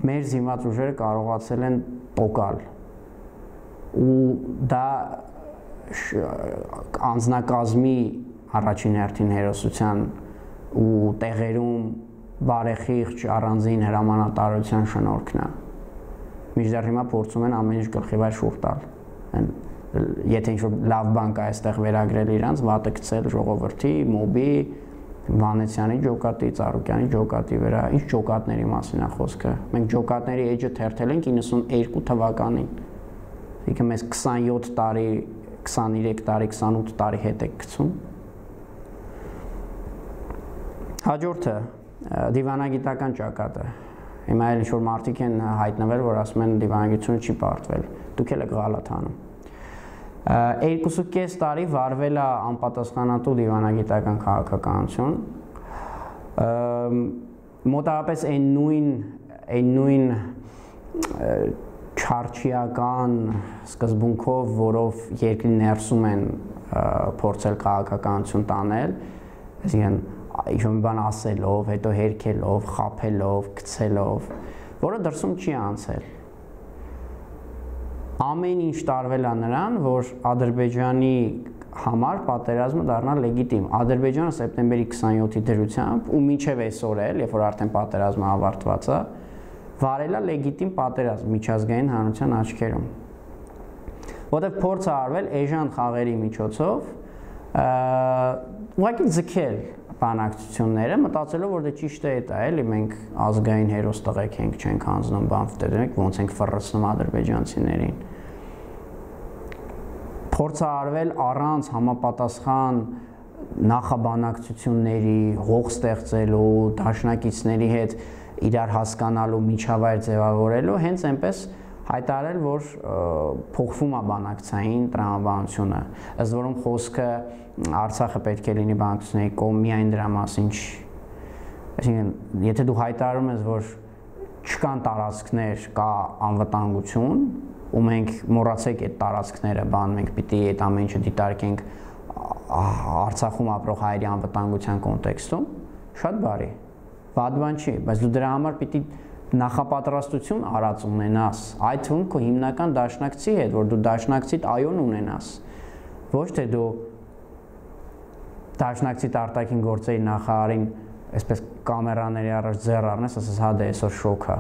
մեր զինված ուժերը կարողացել են տոկալ։ Ու դա անձնակազմի առաջին հերթին հերոսության ու տեղերում բարեխիղճ առանձին հրամանատարության շնորհքն է։ Մինչդեռ հիմա փորձում են ամեն ինչ գլխի վրա շուռ տալ։ Եթե ինչ-որ լավ բան կա այստեղ վերագրել իրանց, վատը գցել ժողովրդի, մոբի, Վանեցյանի ջոկատի, Ծառուկյանի ջոկատի վրա, ինչ ջոկատների մասին է խոսքը։ Մենք ջոկատների էջը թերթել ենք իննսուներկու թվականին։ Իքը մեզ քսանյոթ տարի, քսաներեք տարի, քսանութ տարի հետ եք գցում։ Հաջորդը դիվանագիտական ճակատը։ Հիմա էլ ինչ-որ մարդիկ են հայտնվել, որ ասում են դիվանագիտությունը չի պարտվել։ Դուք էլ եք ղալաթ անում։ Երկուսուկես տարի վարվել է անպատասխանատու դիվանագիտական քաղաքականություն։ Մոտավորապես այն նույն այն նույն չարչիական սկզբունքով, որով երկրի ներսում են փորձել քաղաքականություն տանել, այսինքն ինչ-որ բան ասելով, հետո հերքելով, խաբելով, գցելով, որը դրսում չի անցել։ Ամեն ինչ տարվել է նրան, որ Ադրբեջանի համար պատերազմը դառնա լեգիտիմ։ Ադրբեջանը սեպտեմբերի քսանյոթի դրությամբ ու մինչև այսօր էլ, երբ որ արդեն պատերազմը ավարտված է, վարելա լեգիտիմ պատերազմ միջազգային հանրության աչքերում։ Որտեղ փորձ է արվել էժան խաղերի միջոցով ուղղակի ձգել բանակցությունները, մտածելով որ դե ճիշտ է դա, էլի մենք ազգային հերոս տղեկ ենք, չենք հանձնում բան, դերենք ոնց ենք ֆռռացնում ադրբեջանցիներին։ Փորձ է արվել առանց համապատասխան նախաբանակցությունների, հող ստեղծելու, դաշնակիցների հետ իրար հասկանալու, միջավայր ձևավորելու, հենց այնպես հայտարարել, որ փոխվում է բանակցային տրամաբանությունը, ըստ որում խոսքը Արցախը պետք է լինի բանակցությունների կողմ, միայն դրա մասին չի։ Այսինքն, եթե դու հայտարարում ես, որ չկան տարածքներ, կա անվտանգություն, ու մենք մոռացեք այդ տարածքները, բան մենք պիտի այդ ամեն ինչը դիտարկենք Արցախում ապրող հայերի անվտանգության կոնտեքստում, շատ բարի, վատ բան չի, բայց դու դրա համար պիտի նախապատրաստություն արած ունենաս, այդ թվում քո հիմնական դաշնակցի հետ, որ դու դաշնակցիդ այոն ունենաս, ոչ թե դու դաշնակցիդ արտաքին գործերի նախարարին այսպես կամերաների առաջ ձեռ առնես, ասես հա դե այսօր շոկ է։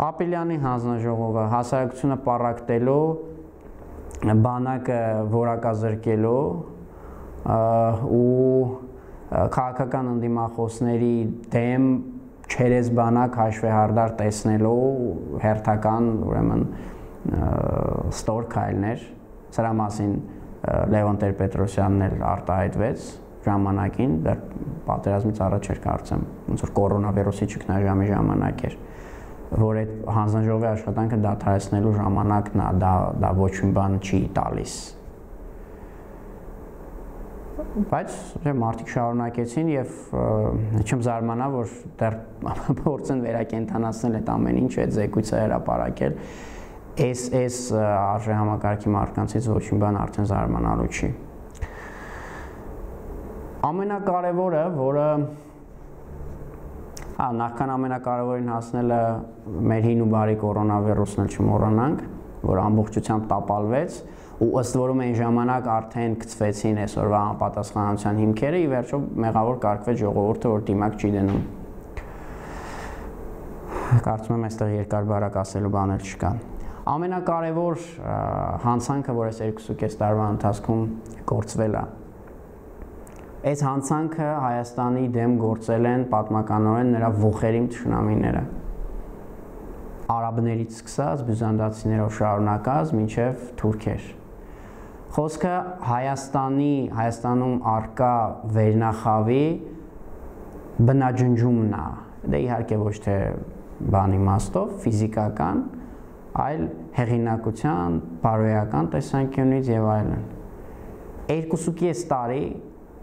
Ապիլյանի հանձնաժողովը հասարակությունը պառակտելու, բանակը որակազրկելու ու քաղաքական ընդդիմախոսների դեմ չերես բանակ հաշվեհարդար տեսնելու հերթական ուրեմն ստոր քայլներ, սրա մասին Լևոն Տեր-Պետրոսյանն էլ արտահայտվեց ժամանակին, դեռ պատերազմից առաջ էր կարծեմ, ոնց որ կորոնավիրուսի ճգնաժամի ժամանակ էր, որ այդ հանձնաժողովի աշխատանքը դադարեցնելու ժամանակն է, դա դա ոչ մի բան չի տալիս։ Բայց մարդիկ շարունակեցին եւ չեմ զարմանա, որ դեռ փորձեն վերակենդանացնել այդ ամեն ինչը, այդ զեկույցը հրապարակել, այս այս արժեհամակարգի մարկանցից ոչ մի բան արդեն զարմանալու չի։ Ամենակարևորը, որը հա նախքան ամենակարևորին հասնելը մեր հին ու բարի կորոնավիրուսն էլ չմոռանանք, որ ամբողջությամբ տապալվեց ու ըստ որում այն ժամանակ արդեն գծվեցին այսօրվա անպատասխանատվության հիմքերը, ի վերջո մեղավոր կարգվեց ժողովուրդը, որ դիմակ չի դնում։ Կարծում եմ այստեղ երկար բարակ ասելու բան էլ չկա։ Ամենակարևոր հանցանքը, որ այս երկուսուկես տարվա ընթացքում գործվել է, այս հանցանքը Հայաստանի դեմ գործել են պատմականորեն նրա ոխերիմ թշնամիները, արաբներից սկսած, բյուզանդացիներով շարունակած, մինչև թուրքեր։ Խոսքը Հայաստանի, Հայաստանում առկա վերնախավի բնաջնջումն է, դե իհարկե ոչ թե բան իմաստով, ֆիզիկական, այլ հեղինակության, բարոյական տեսանկյունից եւ այլն։ Երկուսուկես տարի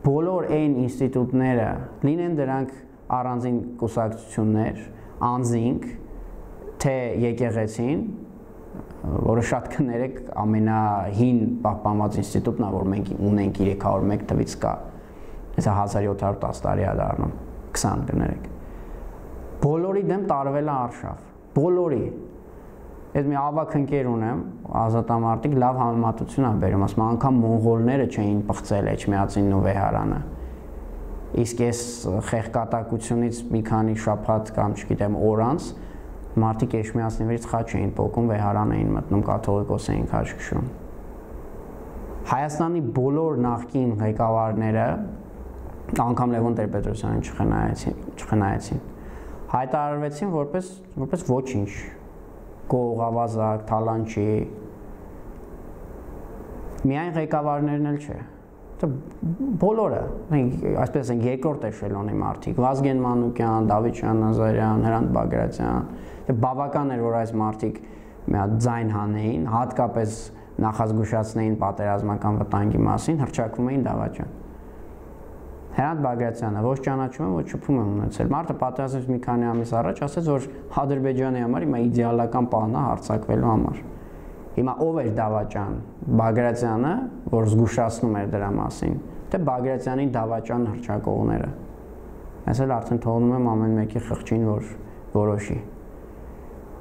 բոլոր այն ինստիտուտները, լինեն դրանք առանձին կուսակցություններ, անձինք, թե եկեղեցին, որը շատ կներեք ամենահին պահպանված ինստիտուտն է, որ մենք ունենք երեք հարյուր մեկ թվից կա, հեսա հազար յոթ հարյուր տասը տարի է դառնում, քսան կներեք։ Բոլորի դեմ տարվել է արշավ, բոլորի։ Ես մի ավակ ընկեր ունեմ, ազատամարտիկ լավ համեմատություն է բերում, ասում անգամ մոնղոլները չէին պղծել Էջմիածինն ու Վեհարանը։ Իսկ այս խեղկատակությունից մի քանի շաբաթ կամ չգիտեմ օր անց մարդիկ Էջմիածնիներից խաչ էին պոկում, Վեհարան էին մտնում, կաթողիկոս էին քաչ քշում։ Հայաստանի բոլոր նախկին ղեկավարները, անգամ Լևոն Տեր-Պետրոսյանին չխնայեցին, չխնայեցին, հայտարարվեցին որպես որպես ոչինչ, գողավազակ, թալանչի, միայն ղեկավարներն էլ չէ, բոլորը, այսպես ենք երկրորդ էշելոնի մարդիկ, Վազգեն Մանուկյան, Դավիթ Շահնազարյան, Հրանտ Բագրատյան, բավական էր, որ այս մարդիկ մի հատ ձայն հանեին, հատկապես նախազգուշացնեին պատերազմական վտանգի մասին, հռչակվում էին դավաճան։ Հրանտ Բագրատյանը ոչ ճանաչում եմ, ոչ շփում եմ ունեցել։ Մարդը պատերազմից մի քանի ամիս առաջ ասեց, որ Ադրբեջանի համար հիմա իդեալական պահն է հարձակվելու համար։ Հիմա ով էր դավաճան, Բագրատյանը, որ զգուշացնում էր դրա մասին, թե Բագրատյանի դավաճան հռչակողները։ Ես էլ արդեն թողնում եմ ամեն մեկի խղճին, որ որոշի։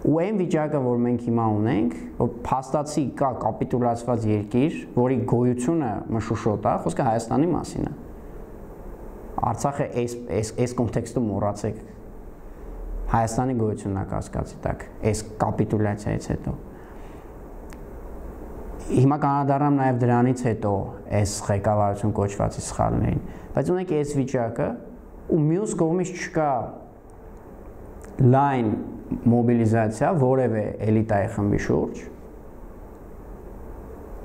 Ու այն վիճակը, որ մենք հիմա ունենք, որ փաստացի կա կապիտուլացված երկիր, որի գոյությունը մշուշոտ է, խոսքը Հայաստանի մասին է։ Արցախը այս այս այս կոնտեքստում մոռացեք Հայաստանի գոյությունն է կասկածի տակ այս կապիտուլյացիայից հետո Հիմա կանադառնամ նաև դրանից հետո այս ղեկավարություն կոչվածի սխալներին բայց ունենք այս վիճակը ու մյուս կողմից չկա լայն մոբիլիզացիա որևէ էլիտայի խմբի շուրջ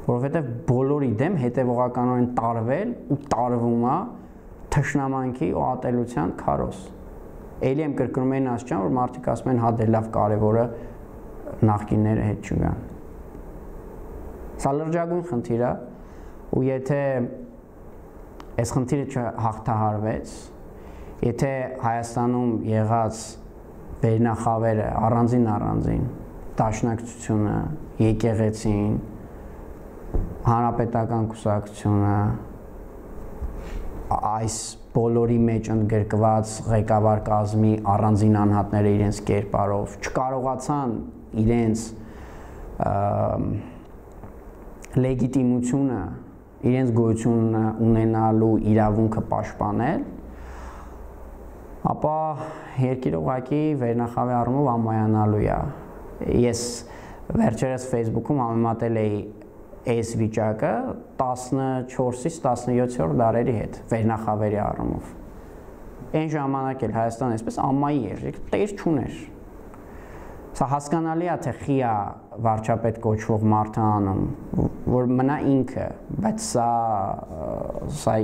որովհետև բոլորի դեմ հետևողականորեն տարվել ու տարվում է թշնամանքի ու ատելության քարոզ Էլի եմ կրկնում են ասճան, որ մարդիկ ասում են հա դե լավ կարևորը նախկինները հետ չգան Սա լրջագույն խնդիր է ու եթե այս խնդիրը չհաղթահարվեց եթե Հայաստանում եղած վերնախավերը առանձին առանձին դաշնակցությունը եկեղեցին հանրապետական կուսակցությունը այս բոլորի մեջ ընդգրկված ղեկավար կազմի առանձին անհատները իրենց կերպարով չկարողացան իրենց լեգիտիմությունը իրենց գոյությունը ունենալու իրավունքը պաշտպանել ապա երկիրը ուղղակի վերնախավի առումով անմայանալու է ես վերջերս Facebook-ում համեմատել էի այս վիճակը տասնչորսից տասնյոթերորդ դարերի հետ վերնախավերի առումով այն ժամանակ էլ Հայաստանը այսպես ամայի էր տեր չուներ Սա հասկանալի է թե խի է վարչապետ կոչվող մարդը անում որ մնա ինքը բայց սա սա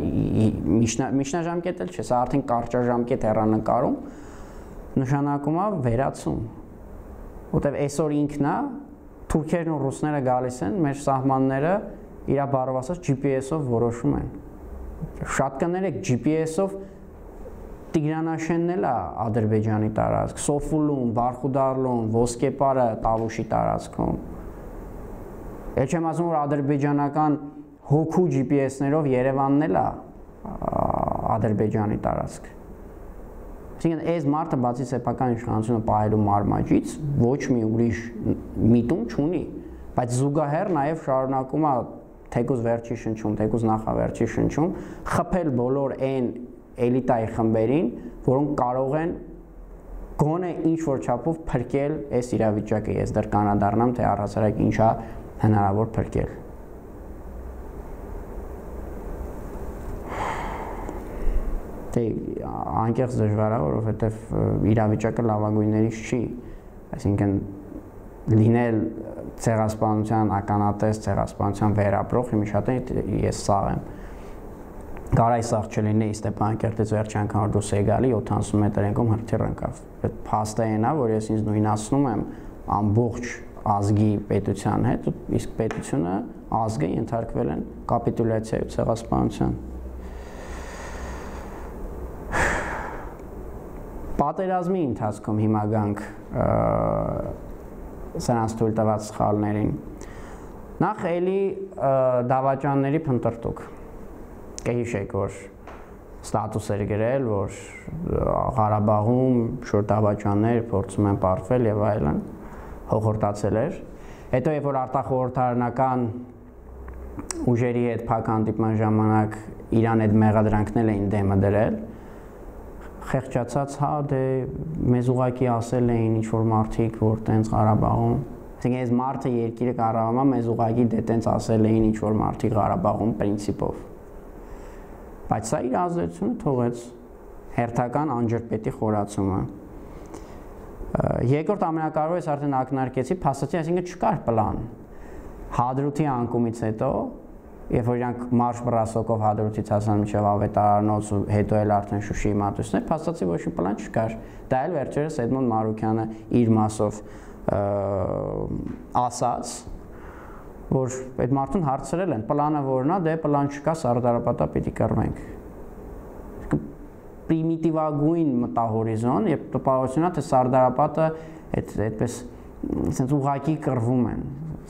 միջնաժամկետ էլ չէ սա արդեն կարճաժամկետ հեռանկարում նշանակում է վերացում որտեվ այսօր ինքն է թուրքերն ու ռուսները գալիս են մեր սահմանները իր բառով ասած G P S-ով որոշում են շատ կներեք G P S-ով Տիգրանաշենն էլ է Ադրբեջանի տարածք, Սոֆուլուն, Բարխուդարլուն, Ոսկեպարը Տավուշի տարածքում։ Էլ չեմ ասում որ ադրբեջանական հոգու G P S-ներով Երևանն էլ է Ադրբեջանի տարածք։ Այսինքն այս մարդը բացի սեփական իշխանությունը պահելու մարմաճից ոչ մի ուրիշ միտում չունի, բայց զուգահեռ նաև շարունակում է թեկուզ վերջի շնչում, թեկուզ նախավերջի շնչում խփել բոլոր այն էլիտայի խմբերին, որոնք կարող են գոնե ինչ-որ չափով փրկել այս իրավիճակը, ես դեռ կանադառնամ, թե առհասարակ ինչա հնարավոր փրկել։ Թե անկեղծ դժվար է, որովհետև իրավիճակը լավագույններից չի, այսինքն լինել ցեղասպանության ականատես, ցեղասպանության վերապրող, հիմա շատ ես սաղ եմ Գարայ սաղ չլինեի Ստեփանակերտից վերջ անգամ որ դուրս եկալի յոթանասուն մետր ենքում հրթիռ ընկավ։ Այդ փաստը այն է, որ ես ինձ նույնացնում եմ ամբողջ ազգի պետության հետ, իսկ պետությունը, ազգը ենթարկվել են կապիտուլյացիայի ու ցեղասպանության։ Պատերազմի ընթացքում հիմա գանք սրանց թույլ տված սխալներին։ Նախ էլի դավաճանների փնտրտուք Կհիշեք, որ ստատուս էր գրել, որ Ղարաբաղում շուտ դավաճաններ փորձում են պարտվել եւ այլն, հողորտացել էր։ Հետո երբ որ արտախորհրդարանական ուժերի հետ փակ հանդիպման ժամանակ Իրան այդ մեղադրանքներ էին դեմը դրել, խեղճացած, հա, դե մեզ ուղակի ասել էին ինչ որ մարդիկ, որ տենց Ղարաբաղում, այսինքն այս մարդը երկիրը կառավարում է, մեզ ուղակի դե տենց ասել էին ինչ որ մարդիկ Ղարաբաղում պրինցիպով։ Բայց սա իր ազդեցությունը թողեց հերթական անջրպետի խորացումը։ Երկրորդ ամենակարևորը ես արդեն ակնարկեցի, փաստացի, այսինքն չկար պլան։ Հադրութի անկումից հետո, երբ որ իրանք մարշ բռասոկով Հադրութից հասան մինչև Ավետարանոց ու հետո էլ արդեն Շուշիի մատուցներ, փաստացի ոչ մի պլան չկար։ Դա էլ վերջերս Էդմոն Մարուկյանը իր մասով ասաց, որ այդ մարդուն հարցրել են, պլանը որն է, դե պլան չկա, Սարդարապետա պիտի կռվենք։ Պրիմիտիվագույն մտահորիզոն, երբ տպավորությունն է, թե Սարդարապետը այդպես sense ուղղակի կռվում են։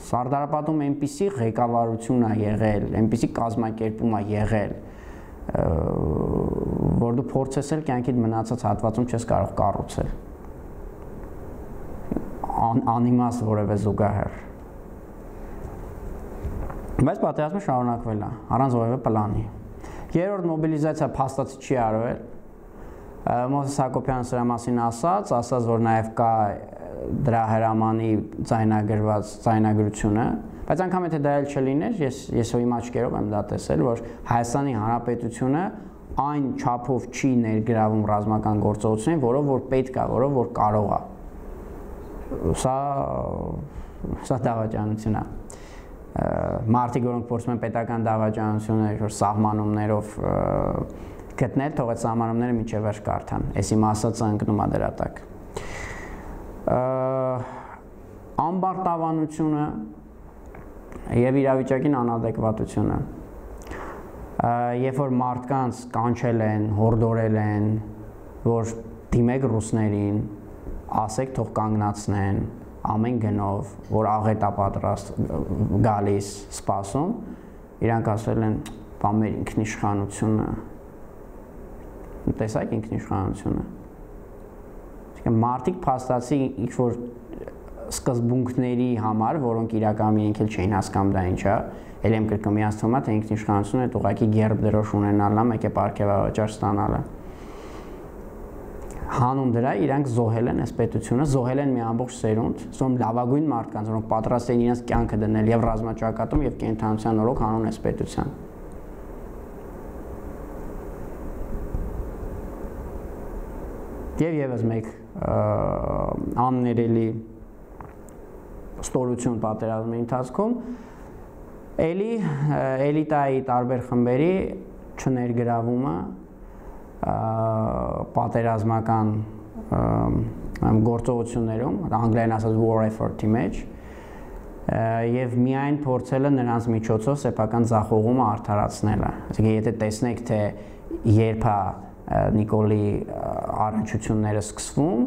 Սարդարապետում այնպիսի ղեկավարություն է եղել, այնպիսի կազմակերպում է եղել, որ դու փորձես էլ կյանքիդ մնացած հատվածում չես կարող կառուցել։ Անիմաստ որևէ զուգահեռ։ Բայց պատերազմը շարունակվել է, առանց որևէ պլանի։ Երրորդ մոբիլիզացիա փաստացի չի արվել։ Մովսես Հակոբյանը սրա մասին ասաց, ասաց, որ նաև կա դրա հրամանի ձայնագրված ձայնագրությունը, բայց անգամ եթե դա էլ չլիներ, ես ես իմ աչքերով եմ դա տեսել, որ Հայաստանի Հանրապետությունը այն չափով չի ներգրավում ռազմական գործողություններին, որով որ պետք է, որով որ կարող է։ Սա սա դավաճանություն է։ Մարդիկ, որոնք փորձում են պետական դավաճանությունը որ սահմանումներով գտնել, թող այդ սահմանումները միջև վերջ կարդան։ Էս իմ ասածը ընկնում է դրա տակ։ Ամբարտավանությունը եւ իրավիճակին անադեկվատությունը։ Երբ որ մարդկանց կանչել են, հորդորել են, որ դիմեք ռուսներին, ասեք թող կանգնացնեն, ամեն գնով, որ աղետ է պատրաստ գալիս, սպասում, իրանք ասել են, բա մեր ինքնիշխանությունը, տեսակ ինքնիշխանությունը։ Մարդիկ փաստացի ինչ-որ սկզբունքների համար, որոնք իրականում իրենք էլ չէին հասկանում դա ինչ է, էլ եմ կրկնում իրանց թվում է, թե ինքնիշխանությունը այդ ուղղակի գերբ դրոշ ունենալն է, մեկ է պարգևավճար ստանալը։ Հանուն դրա իրանք զոհել են այս պետությունը, զոհել են մի ամբողջ սերունդ, զոհում լավագույն մարդկանց, որոնք պատրաստ էին իրենց կյանքը դնել եւ ռազմաճակատում եւ կենթանության օրոք հանուն այս պետության։ Եվ եւս մեկ աններելի ստորություն պատերազմի ընթացքում էլի էլիտայի տարբեր խմբերի չներգրավումը պատերազմական գործողություններում, անգլերեն ասած war effort-ի մեջ, եւ միայն փորձելը նրանց միջոցով սեփական ձախողումը արդարացնելը։ Այսինքն եթե տեսնեք, թե երբ է Նիկոլի առնչությունները սկսվում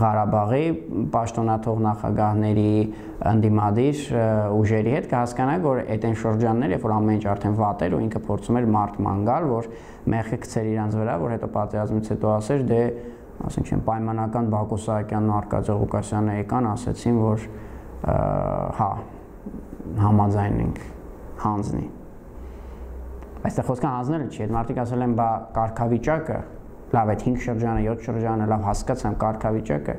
Ղարաբաղի պաշտոնաթող նախագահների ընդդիմադիր ուժերի հետ, կհասկանաք, որ այդ այն շրջաններ, երբ որ ամեն ինչ արդեն վատ էր ու ինքը փորձում էր մարդ ման գալ, որ մեղքը գցեր իրանց վրա, որ հետո պատերազմից հետո ասեր, դե, ասենք չեմ, պայմանական Բակո Սահակյանն ու Արկադի Ղուկասյանը եկան, ասեցին, որ հա, համաձայն ենք, հանձնի։ Այստեղ խոսքը հանձնելը չի, այդ մարդիկ ասել են, բա կարգավիճակը, լավ, այդ հինգ շրջանը, յոթ շրջանը, լավ հասկացամ կարգավիճակը,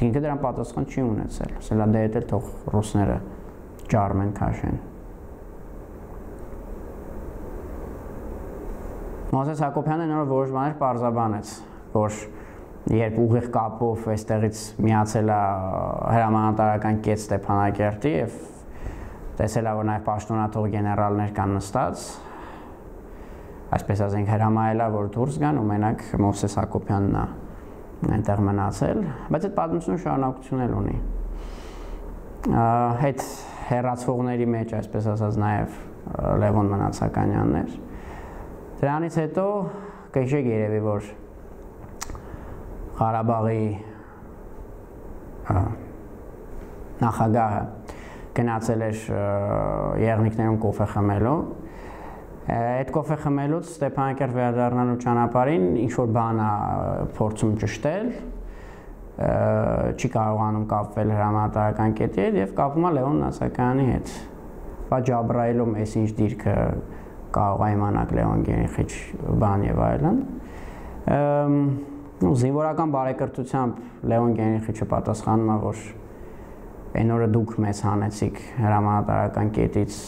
ինքը դրան պատասխան չի ունեցել, ասել է դե հետ էլ թող ռուսները ջարմեն, քաշեն։ Մովսես Հակոբյանը նոր որոշ բաներ պարզաբանեց, որ երբ ուղիղ կապով այստեղից միացել է հրամանատարական կետ Ստեփանակերտի եւ տեսել է, որ նաեւ պաշտոնաթող գեներալներ կան նստած, այսպես ասենք հրամայել է, որ դուրս գան ու մենակ Մովսես Հակոբյանն է այնտեղ մնացել, բայց այդ պատմությունը շարունակություն էլ ունի։ Այդ հեռացվողների մեջ, այսպես ասած, նաեւ Լևոն Մնացականյանն էր։ Դրանից հետո կհիշեք երևի, որ Ղարաբաղի նախագահը գնացել էր եղնիկներում կոֆե խմելու։ Այդ կոֆե խմելուց Ստեփանակերտ վերադառնալու ճանապարհին ինչ-որ բան է փորձում ճշտել, չի կարողանում կապվել հրամանատարական կետի հետ եւ կապում է Լևոն Մնացակայանի հետ։ Բա Ջաբրայելում էս ինչ դիրքը կարող է իմանալ Լևոն Գենրիխիչ բան եւ այլն։ Զինվորական բարեկրթությամբ Լևոն Գենրիխիչը պատասխանում է, որ այն օրը դուք մեզ հանեցիք հրամանատարական կետից,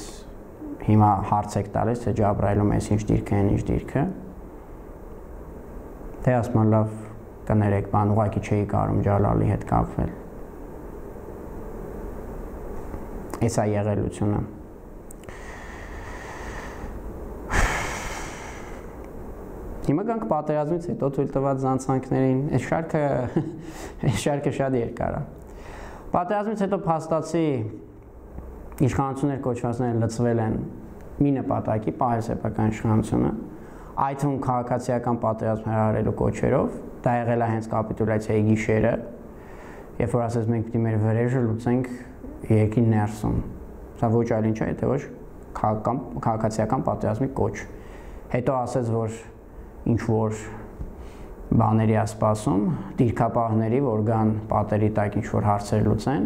հիմա հարց եք տալիս, թե Ջաբրայելում էս ինչ դիրքը, այն ինչ դիրքը։ Թե ասում են լավ կներեք, բան ուղղակի չէի կարում Ջալալի հետ կապվել։ Էս է եղելությունը։ Հիմա գանք պատերազմից հետո թույլ տված զանցանքներին, այս շարքը այս շարքը շատ երկար է։ Պատերազմից հետո փաստացի իշխանություններ կոչվածները լծվել են մի նպատակի, պահել սեփական իշխանությունը, այդ թվում քաղաքացիական պատերազմ հրահրելու կոչերով, դա եղել է հենց կապիտուլյացիայի գիշերը, երբ որ ասես մենք պիտի մեր վրեժը լուծենք երկրի ներսում։ Սա ոչ այլ ինչ է, թե ոչ քաղաքացիական պատերազմի կոչ։ Հետո ասեց, որ ինչ որ բաների է սպասում, դիրքապահների, որ գան պատերի տակ ինչ որ հարցեր լուծեն։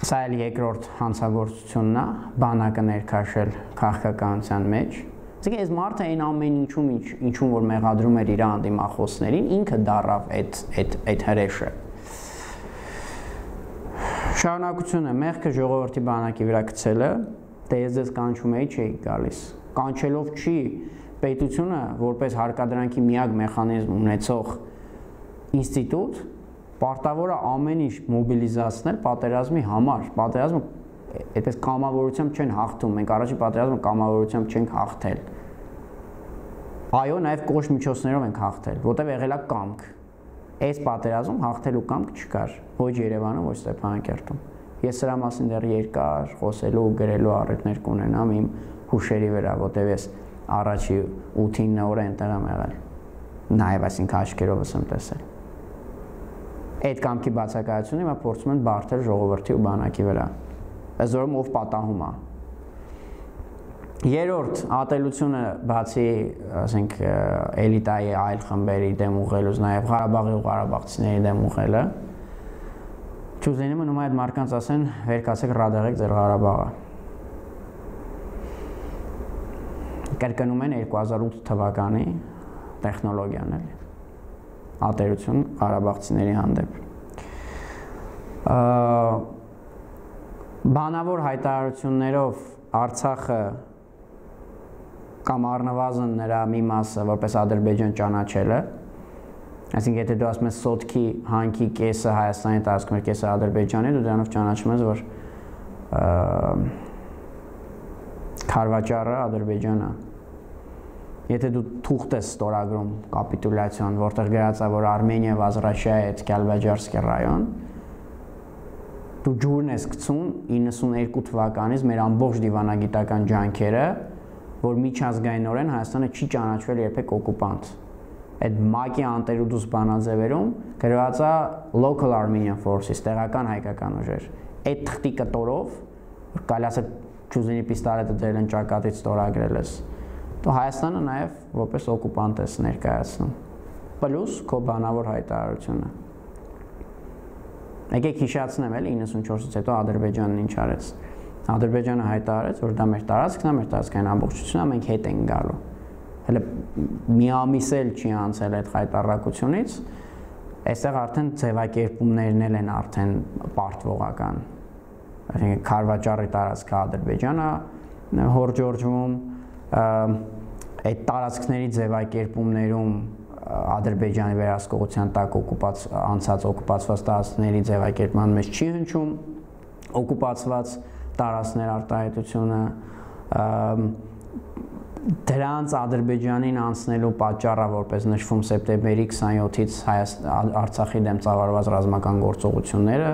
Սա էլ երկրորդ հանցագործությունն է, բանակը ներքաշել քաղաքականության մեջ։ Իսկ այս մարդը այն ամեն ինչում ինչում որ մեղադրում էր իր անդիմախոսներին, ինքը դառավ այդ այդ այդ հրեշը։ Շարունակությունը մեղքը ժողովրդի բանակի վրա գցելը, դե ես ձեզ կանչում էի, չէի գալիս։ Կանչելով չի պետությունը որպես հարկադրանքի միակ մեխանիզմ ունեցող ինստիտուտ պարտավոր է ամեն ինչ մոբիլիզացնել պատերազմի համար։ Պատերազմը այդպես կամավորությամբ չեն հաղթում, մենք առաջի պատերազմը կամավորությամբ չենք հաղթել։ Այո, նաև կոշտ միջոցներով ենք հաղթել, որտեղ եղել է կամք։ Այս պատերազմում հաղթելու կամք չկար, ոչ Երևանում, ոչ Ստեփանակերտում։ Ես սրա մասին դեռ երկար խոսելու ու գրելու առիթներ կունենամ իմ հուշերի վրա, որտեղ ես առաջի ութ-ինը օրը այնտեղ եմ եղել։ Նաև այսինքն աչքերովս եմ տեսել։ Այդ կամքի բացակայությունը հիմա փորձում են բարթել ժողովրդի ու բանակի վրա։ Այսօրում ով պատահում է։ Երրորդ ատելությունը բացի, ասենք, էլիտայի այլ խմբերի դեմ ուղղելուց, նաև Ղարաբաղի ու ղարաբաղցիների դեմ ուղղելը, չուզենի մնում այդ մարդկանց ասեն, վեր կացեք ռադեղեք ձեր Ղարաբաղը։ Կրկնում են երկու հազար ութ թվականի տեխնոլոգիան էլի։ Ատելություն ղարաբաղցիների հանդեպ։ Բանավոր հայտարարություններով Արցախը կամ առնվազն նրա մի մասը որպես Ադրբեջան ճանաչելը, այսինքն եթե դու ասում ես Սոտքի հանքի կեսը Հայաստանի տարածքում է, կեսը Ադրբեջանի, դու դրանով ճանաչում ես, որ Քարվաճառը Ադրբեջանն է։ Եթե դու թուղթ ես ստորագրում կապիտուլյացիան, որտեղ գրած է, որ Արմենիա Վազրաշիա է Կյալբաջարսկի ռայոն, դու ջուրն ես գցում իննսուններկու թվականից մեր ամբողջ դիվանագիտական ջանքերը, որ միջազգայինորեն Հայաստանը չի ճանաչվել երբեք օկուպանտ։ Այդ ՄԱԿ-ի անտերուդուս բանաձևերում գրված է Local Armenian Forces, տեղական հայկական ուժեր։ Այդ թղթի կտորով, որ կարելի ասել Չուզինի պիստոլետը դրել են ճակատից ստորագրել ես, դու Հայաստանը նաև որպես օկուպանտ ես ներկայացնում։ Պլյուս քո բանավոր հայտարարությունը։ Եկեք հիշացնեմ էլի իննսունչորսից հետո Ադրբեջանն ինչ արեց։ Ադրբեջանը հայտարարեց, որ դա մեր տարածքն է, մեր տարածքային ամբողջությունն է, մենք հետ ենք գալու։ Հələ մի ամիս էլ չի անցել այդ հայտարարությունից, այստեղ արդեն ձևակերպումներն էլ են արդեն պարտվողական։ Այսինքն Քարվաճառի տարածքը Ադրբեջանը հորջորջվում, այդ տարածքների ձևակերպումներում Ադրբեջանի վերահսկողության տակ օկուպած անցած օկուպացված տարածքների ձևակերպման մեջ չի հնչում օկուպացված տարածքներ արտահայտությունը դրանց Ադրբեջանին անցնելու պատճառը որպես նշվում սեպտեմբերի քսանյոթից Արցախի դեմ ծավալված ռազմական գործողությունները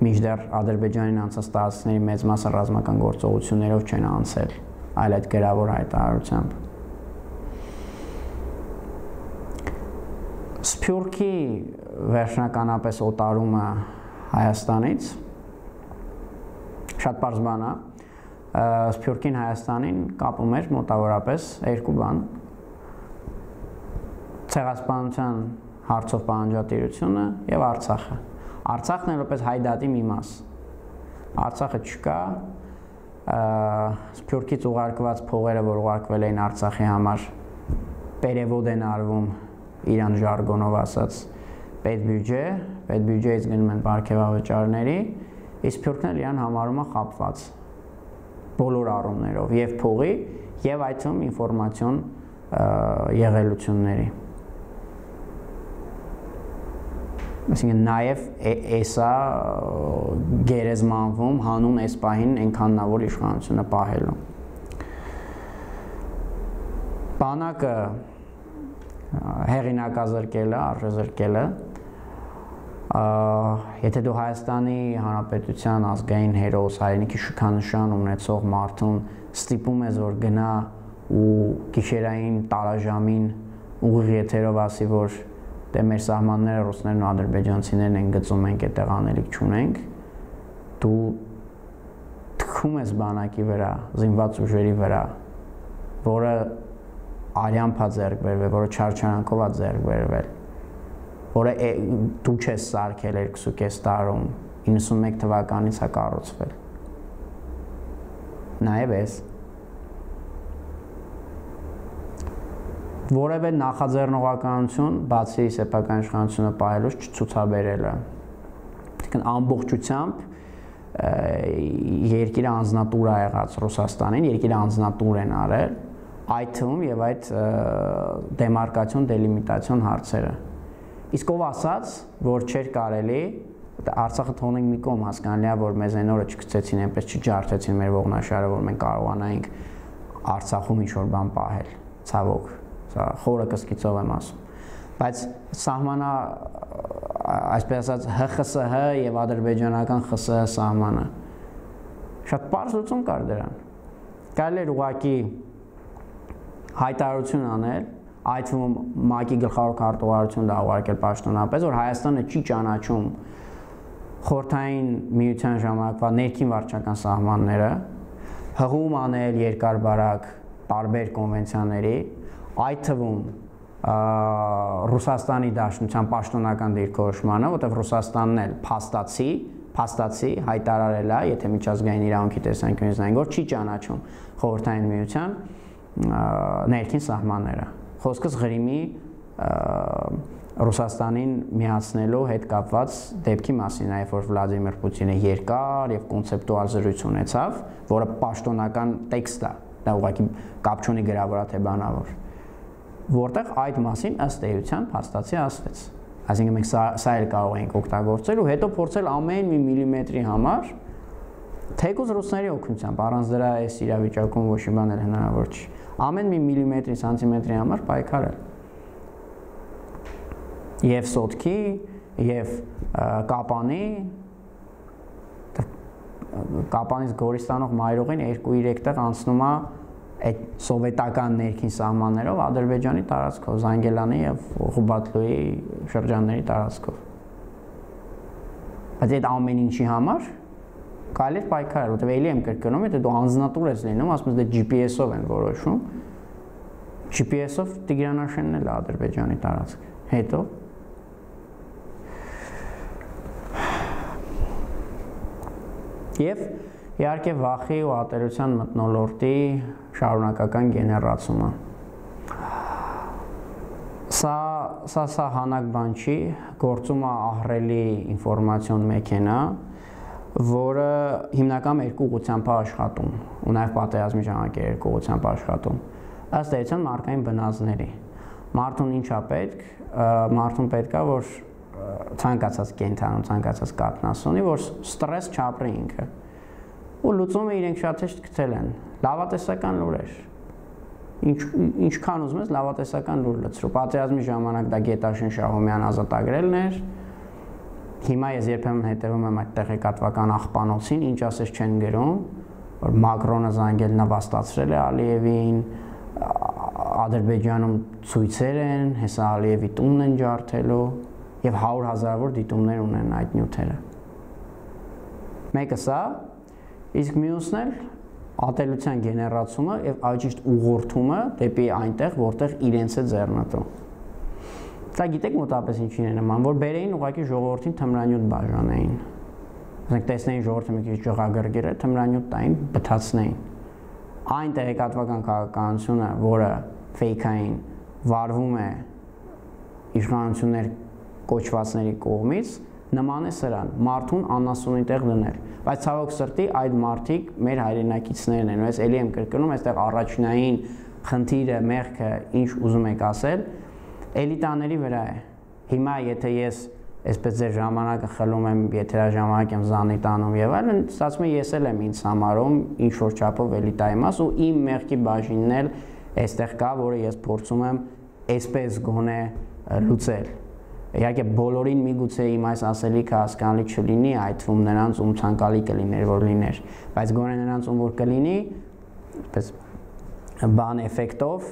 մինչդեռ Ադրբեջանին անցած տարածքների մեծ մասը ռազմական գործողություններով չեն անցել, այլ այդ գրավոր հայտարարությամբ։ Սփյուռքի վերջնականապես օտարումը Հայաստանից շատ պարզ բան է, Սփյուռքին Հայաստանին կապում էր մոտավորապես երկու բան, ցեղասպանության հարցով պահանջատիրությունը եւ Արցախը։ Արցախն է որպես հայդատի մի մաս։ Արցախը չկա, Սփյուռքից ուղարկված փողերը, որ ուղարկվել էին Արցախի համար, պերևոդ են արվում իրան ժարգոնով ասած պետբյուջե, պետբյուջեից գնում են պարգևավճարների, իսկ Սփյուռքն էլ իրան համարում է խապված բոլոր առումներով, եւ փողի, եւ այդ թվում ինֆորմացիոն եղելությունների։ Այսինքն նաև էսա գերեզմանվում հանուն այս պահին այնքան նավոր իշխանությունը պահելու։ Բանակը հեղինակազրկելը, արժեզրկելը, եթե դու Հայաստանի Հանրապետության ազգային հերոս, հայրենիքի շքանշան ունեցող մարդուն ստիպում ես, որ գնա ու գիշերային տարաժամին ուղիղ եթերով ասի, որ դե մեր սահմանները ռուսներն ու ադրբեջանցիներն են գծում, մենք այդտեղ անելիք չունենք, դու թքում ես բանակի վրա, զինված ուժերի վրա, որը արյամբ է ձեռք բերվել, որը չարչարանքով է ձեռք բերվել, որը դու չես սարքել երկուսուկես տարում, իննսունմեկ թվականից է կառուցվել։ Նաև էս որևէ նախաձեռնողականություն բացի սեփական իշխանությունը պահելուց չցուցաբերելը։ Այսինքն ամբողջությամբ երկիրը անձնատուր է եղած Ռուսաստանին, երկիրը անձնատուր են արել, այդ թվում եւ այդ դեմարկացիոն, դելիմիտացիոն հարցերը։ Իսկ ով ասաց, որ չէր կարելի Արցախը թողնենք մի կողմ, հասկանալի է, որ մեզ այն օրը չգցեցին, այնպես չջարդեցին մեր ողնաշարը, որ մենք կարողանայինք Արցախում ինչ-որ բան պահել, ցավոք, սա խորը կսկիծով եմ ասում, բայց սահմանա, այսպես ասած, Հ Խ С Հ եւ ադրբեջանական Խ Ս Հ սահմանը շատ պարզ լուծում կար դրան։ Կարելի էր ուղղակի հայտարարություն անել, այդ թվում ՄԱԿ-ի գլխավոր քարտուղարություն դա ուղարկել պաշտոնապես, որ Հայաստանը չի ճանաչում Խորհրդային Միության ժամանակվա ներքին վարչական սահմանները, հղում անել երկար-բարակ տարբեր կոնվենցիաների, այդ թվում Ռուսաստանի Դաշնության պաշտոնական դիրքորոշմանը, որտեղ Ռուսաստանն էլ փաստացի, փաստացի հայտարարել է, եթե միջազգային իրավունքի տեսանկյունից նայենք, որ չի ճանաչում Խորհրդային Միության ներքին սահմանները։ Խոսքս Ղրիմի Ռուսաստանին միացնելու հետ կապված դեպքի մասին, այլ որ Վլադիմիր Պուտինը երկար եւ կոնցեպտուալ զրույց ունեցավ, որը պաշտոնական տեքստ է, դա ուղղակի կապ չունի գրավորա թե բանավոր, որտեղ այդ մասին ըստ էության փաստացի ասվեց։ Այսինքն մենք սա, սա էլ կարող ենք օգտագործել ու հետո փորձել ամեն մի միլիմետրի համար թեկուզ ռուսների օգնությամբ, առանց դրա այս իրավիճակում ոչ մի բան էլ հնարավոր չի։ Ամեն մի միլիմետրի, սանտիմետրի համար պայքարել։ Եվ սոտքի, եւ կապանի, կապանից Գորիստանող մայրուղին երկու երեք տեղ անցնում է այդ սովետական ներքին սահմաններով Ադրբեջանի տարածքով, Զանգելանի եւ Ղուբատլուի շրջանների տարածքով։ Բայց այդ ամեն ինչի համար կարելի է պայքարել, որտեղ էլի եմ կրկնում, եթե դու անձնատուր ես լինում, ասում ես դե G P S-ով են որոշում, G P S-ով Տիգրանաշենն էլ է Ադրբեջանի տարածք։ Հետո եւ իհարկե վախի ու ատելության մթնոլորտի շարունակական գեներացումը։ Սա սա սա հանակ բան չի, գործում է ահռելի ինֆորմացիոն մեքենա, որը հիմնական երկու ուղղությամբ է աշխատում, ու նաեւ պատերազմի ժամանակ է երկու ուղղությամբ աշխատում։ Ըստ էության մարդկային բնազդների։ Մարդուն ինչ է պետք, մարդուն պետք է, որ ցանկացած կենթանու, ցանկացած կաթնասունի, որ ստրես չապրի ինքը։ Ու լուծումը իրենք շատ հեշտ գտել են։ Լավատեսական լուրեր։ Ինչ ինչքան ուզում ես լավատեսական լուր լցրու։ Պատերազմի ժամանակ դա Գետաշեն Շահումյան ազատագրելն էր։ Հիմա ես երբեմն հետևում եմ այդ տեղեկատվական աղբանոցին, ինչ ասես չեն գրում, որ Մակրոնը զանգել նվաստացրել է Ալիևին, Ադրբեջանում ցույցեր են, հեսա Ալիևի տունն են ջարդելու եւ հարյուր հազարավոր դիտումներ ունեն այդ նյութերը։ Մեկը սա, իսկ մյուսն էլ ատելության գեներացումը եւ այժմ ուղղորդումը դեպի այնտեղ, որտեղ իրենց է ձեռնտու։ Սա գիտեք մոտապես ինչին է նման, որ բերեին ուղղակի ժողովրդին թմրանյութ բաժանեին։ Ասենք տեսնեին ժողովրդը մի քիչ ջղագրգիռ է, թմրանյութ տային, բթացնեին։ Այն տեղեկատվական քաղաքականությունը, որը ֆեյքային վարվում է իշխանություններ կոչվածների կողմից, նման է սրան, մարդուն անասունի տեղ դնել, բայց ցավոք սրտի այդ մարդիկ մեր հայրենակիցներն են, ու ես էլի եմ կրկնում, այստեղ առաջնային խնդիրը, մեղքը, ինչ ուզում եք ասել, էլիտաների վրա է։ Հիմա եթե ես այսպես ձեր ժամանակը խլում եմ, եթերաժամանակ եմ զանի տանում եւ այլն, ստացվում է ես էլ եմ ինձ համարում ինչ որ չափով էլիտայի մաս ու իմ մեղքի բաժինն էլ այստեղ կա, որը ես փորձում եմ այսպես գոնե լուծել։ Իհարկե բոլորին միգուցե իմ այս ասելիքը հասկանալի չլինի, այդ թվում նրանց ում ցանկալի կլիներ որ լիներ, բայց գոնե նրանց ում որ կլինի, այսպես բան էֆեկտով,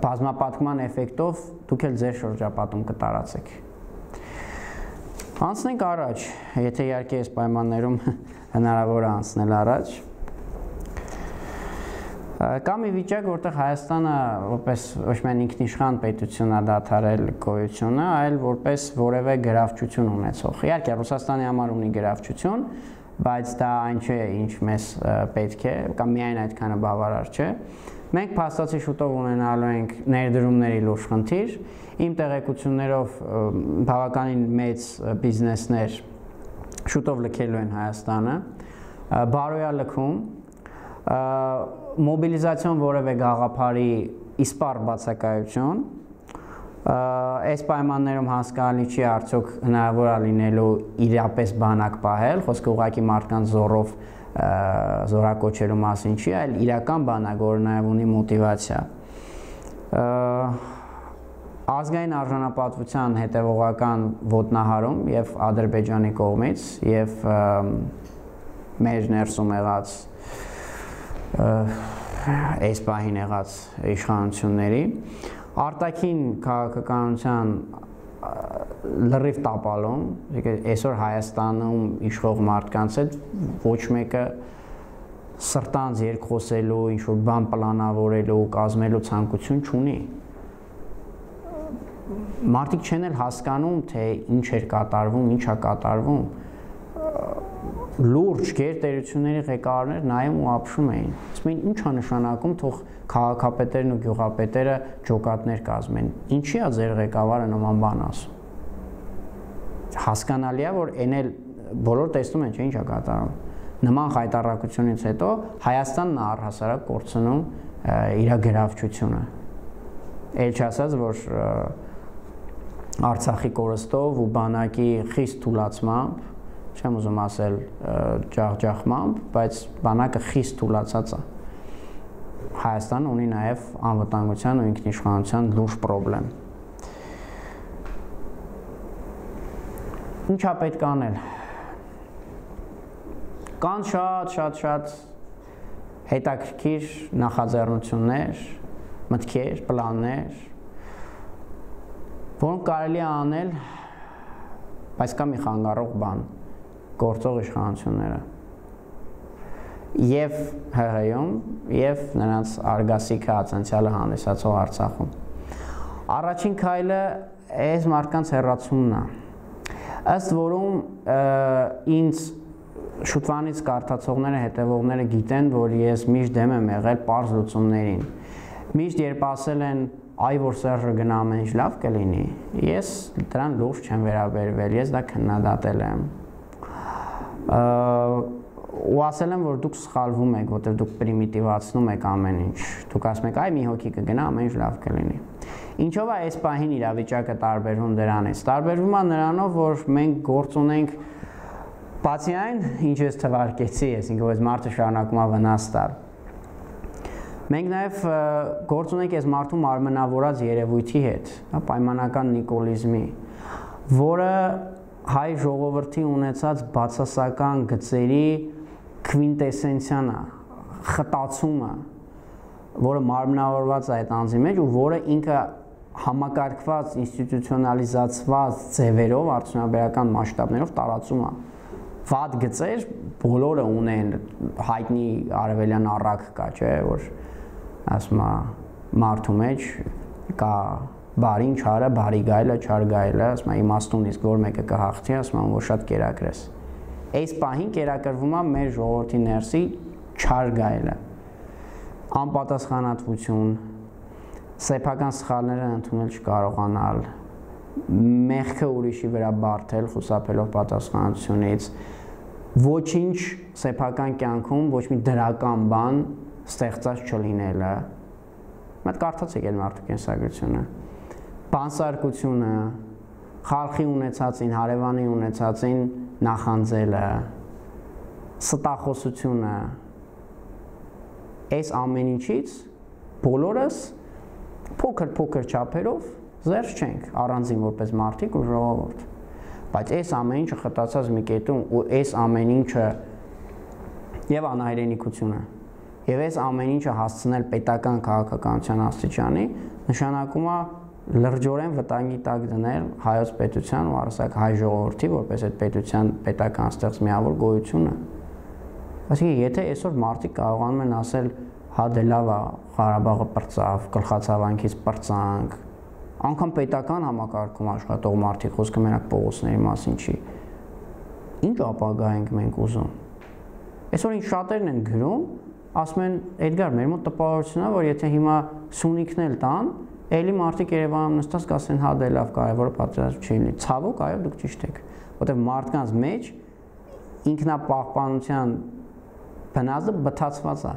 բազմապատկման էֆեկտով դուք էլ ձեր շրջապատում կտարածեք։ Անցնենք առաջ, եթե իհարկե այս պայմաններում հնարավոր է անցնել առաջ։ Կա մի վիճակ, որտեղ Հայաստանը որպես ոչ միայն ինքնիշխան պետություն է դադարել գոյությունը, այլ որպես որևէ գրավչություն ունեցող։ Իհարկե Ռուսաստանի համար ունի գրավչություն, բայց դա այն չէ, ինչ մեզ պետք է, կամ միայն այդքանը բավարար չէ։ Մենք փաստացի շուտով ունենալու ենք ներդրումների լուրջ խնդիր, իմ տեղեկություններով բավականին մեծ բիզնեսներ շուտով լքելու են Հայաստանը, բարոյա լքում, մոբիլիզացիոն որևէ գաղափարի իսպառ բացակայություն, այս պայմաններում հասկանալի չի արդյոք հնարավոր է լինելու իրապես բանակ պահել, խոսքը ուղղակի մարդկանց զորով զորակոչելու մասին չի, այլ իրական բանակ, որը նաև ունի մոտիվացիա։ Ազգային արժանապատվության հետևողական ոտնահարում եւ Ադրբեջանի կողմից եւ մեր ներսում եղած այս պահին եղած իշխանությունների արտաքին քաղաքականության լրիվ տապալում, այսօր Հայաստանում իշխող մարդկանց հետ ոչ մեկը սրտանց երկխոսելու, ինչ-որ բան պլանավորելու, կազմելու ցանկություն չունի։ Մարդիկ չեն էլ հասկանում, թե ինչ էր կատարվում, ինչ է կատարվում։ Լուրջ գերտերությունների ղեկավարներ նայում ու ապշում էին։ Ասում էին, ինչ է նշանակում, թող քաղաքապետերն ու գյուղապետերը ջոկատներ կազմեն։ Ինչի է ձեր ղեկավարը նման բան ասում։ Հասկանալի է, որ այն էլ բոլոր տեսնում են, չէ՞ ինչ է կատարում։ Նման խայտառակությունից հետո Հայաստանն է առհասարակ կորցնում իր գրավչությունը։ Էլ չասած, որ Արցախի կորստով ու բանակի խիստ թուլացմամբ, չեմ ուզում ասել ջախջախմամբ, բայց բանակը խիստ թուլացած է։ Հայաստանը ունի նաև անվտանգության ու ինքնիշխանության լուրջ պրոբլեմ։ Ինչ է պետք անել։ Կան շատ, շատ, շատ հետաքրքիր նախաձեռնություններ, մտքեր, պլաններ, որոնք կարելի է անել, բայց կա մի խանգարող բան, գործող իշխանությունները եւ ՀՀ-ում եւ նրանց արգասիքը ացանցիալը հանդիսացող Արցախում։ Առաջին քայլը այս մարդկանց հեռացումն է։ Ըստ որում ինձ շուտվանից կարդացողները, հետևողները գիտեն, որ ես միշտ դեմ եմ եղել պարզ լուծումներին։ Միշտ երբ ասել են այ որ Սերժը գնա ամեն ինչ լավ կլինի, ես դրան լուրջ չեմ վերաբերվել, ես դա քննադատել եմ։ Ու ասել եմ, որ դուք սխալվում եք, որտեղ դուք պրիմիտիվացնում եք ամեն ինչ։ Դուք ասում եք, այ մի հոգի կգնա, ամեն ինչ լավ կլինի։ Ինչով է այս պահին իրավիճակը տարբերվում դրանից։ Տարբերվում է նրանով, որ մենք գործ ունենք բացի այն, ինչ ես թվարկեցի, այսինքն որ այս մարդը շարունակում է վնաս տալ։ Մենք նաև գործ ունենք այս մարդու մարմնավորած երևույթի հետ, պայմանական նիկոլիզմի, որը հայ ժողովրդի ունեցած բացասական գծերի քվինտեսենցիան է, խտացումը, որը մարմնավորված է այդ անձի մեջ ու որը ինքը համակարգված, ինստիտուցիոնալիզացված ձևերով, արդյունաբերական մասշտաբներով տարածում է։ Վատ գծեր բոլորը ունեն, հայտնի արևելյան առակ կա, չէ, որ ասում է մարդու մեջ կա բարին չարը, բարի գայլը, չար գայլը, ասում է իմաստուն իսկ որ մեկը կհաղթի, ասում է որ շատ կերակրես։ Այս պահին կերակրվում է մեր ժողովրդի ներսի չար գայլը։ Անպատասխանատվություն, սեփական սխալները ընդունել չկարողանալ, մեղքը ուրիշի վրա բարթել, խուսափելով պատասխանատվությունից, ոչինչ սեփական կյանքում ոչ մի դրական բան ստեղծած չլինելը։ Մատ կարդացեք այդ մարդու կենսագրությունը։ Բանսարկությունը, խալխի ունեցածին, հարևանի ունեցածին նախանձելը, ստախոսությունը, այս ամեն ինչից բոլորս փոքր-փոքր չափերով զերծ չենք, առանձին որպես մարդիկ ու ժողովուրդ։ Բայց այս ամեն ինչը խտացած մի կետում ու այս ամեն ինչը եւ անհայրենիքությունը եւ այս ամեն ինչը հասցնել պետական քաղաքականության աստիճանի նշանակում է լրջորեն վտանգի տակ դնել հայոց պետության ու առասարակ հայ ժողովրդի որպես այդ պետության պետական ստեղծ միավոր գոյությունը։ Այսինքն եթե այսօր մարդիկ կարողանում են ասել հա դե լավ է, Ղարաբաղը պրծավ, գլխացավանքից պրծանք, անգամ պետական համակարգում աշխատող մարդիկ, խոսքը մենակ փողոցների մասին չի։ Ինչ ապագա ենք մենք ուզում։ Այսօր ինչ շատերն են գրում, ասում են Էդգար, մեր մոտ տպավորությունն է, որ եթե հիմա Սյունիքն էլ տան, էլի մարդիկ Երևանում նստած կասեն հա դե լավ, կարևորը պատերազմ չի լինի։ Ցավոք, այո, դուք ճիշտ եք, որտեղ մարդկանց մեջ ինքնապահպանության բնազդը բթացված է։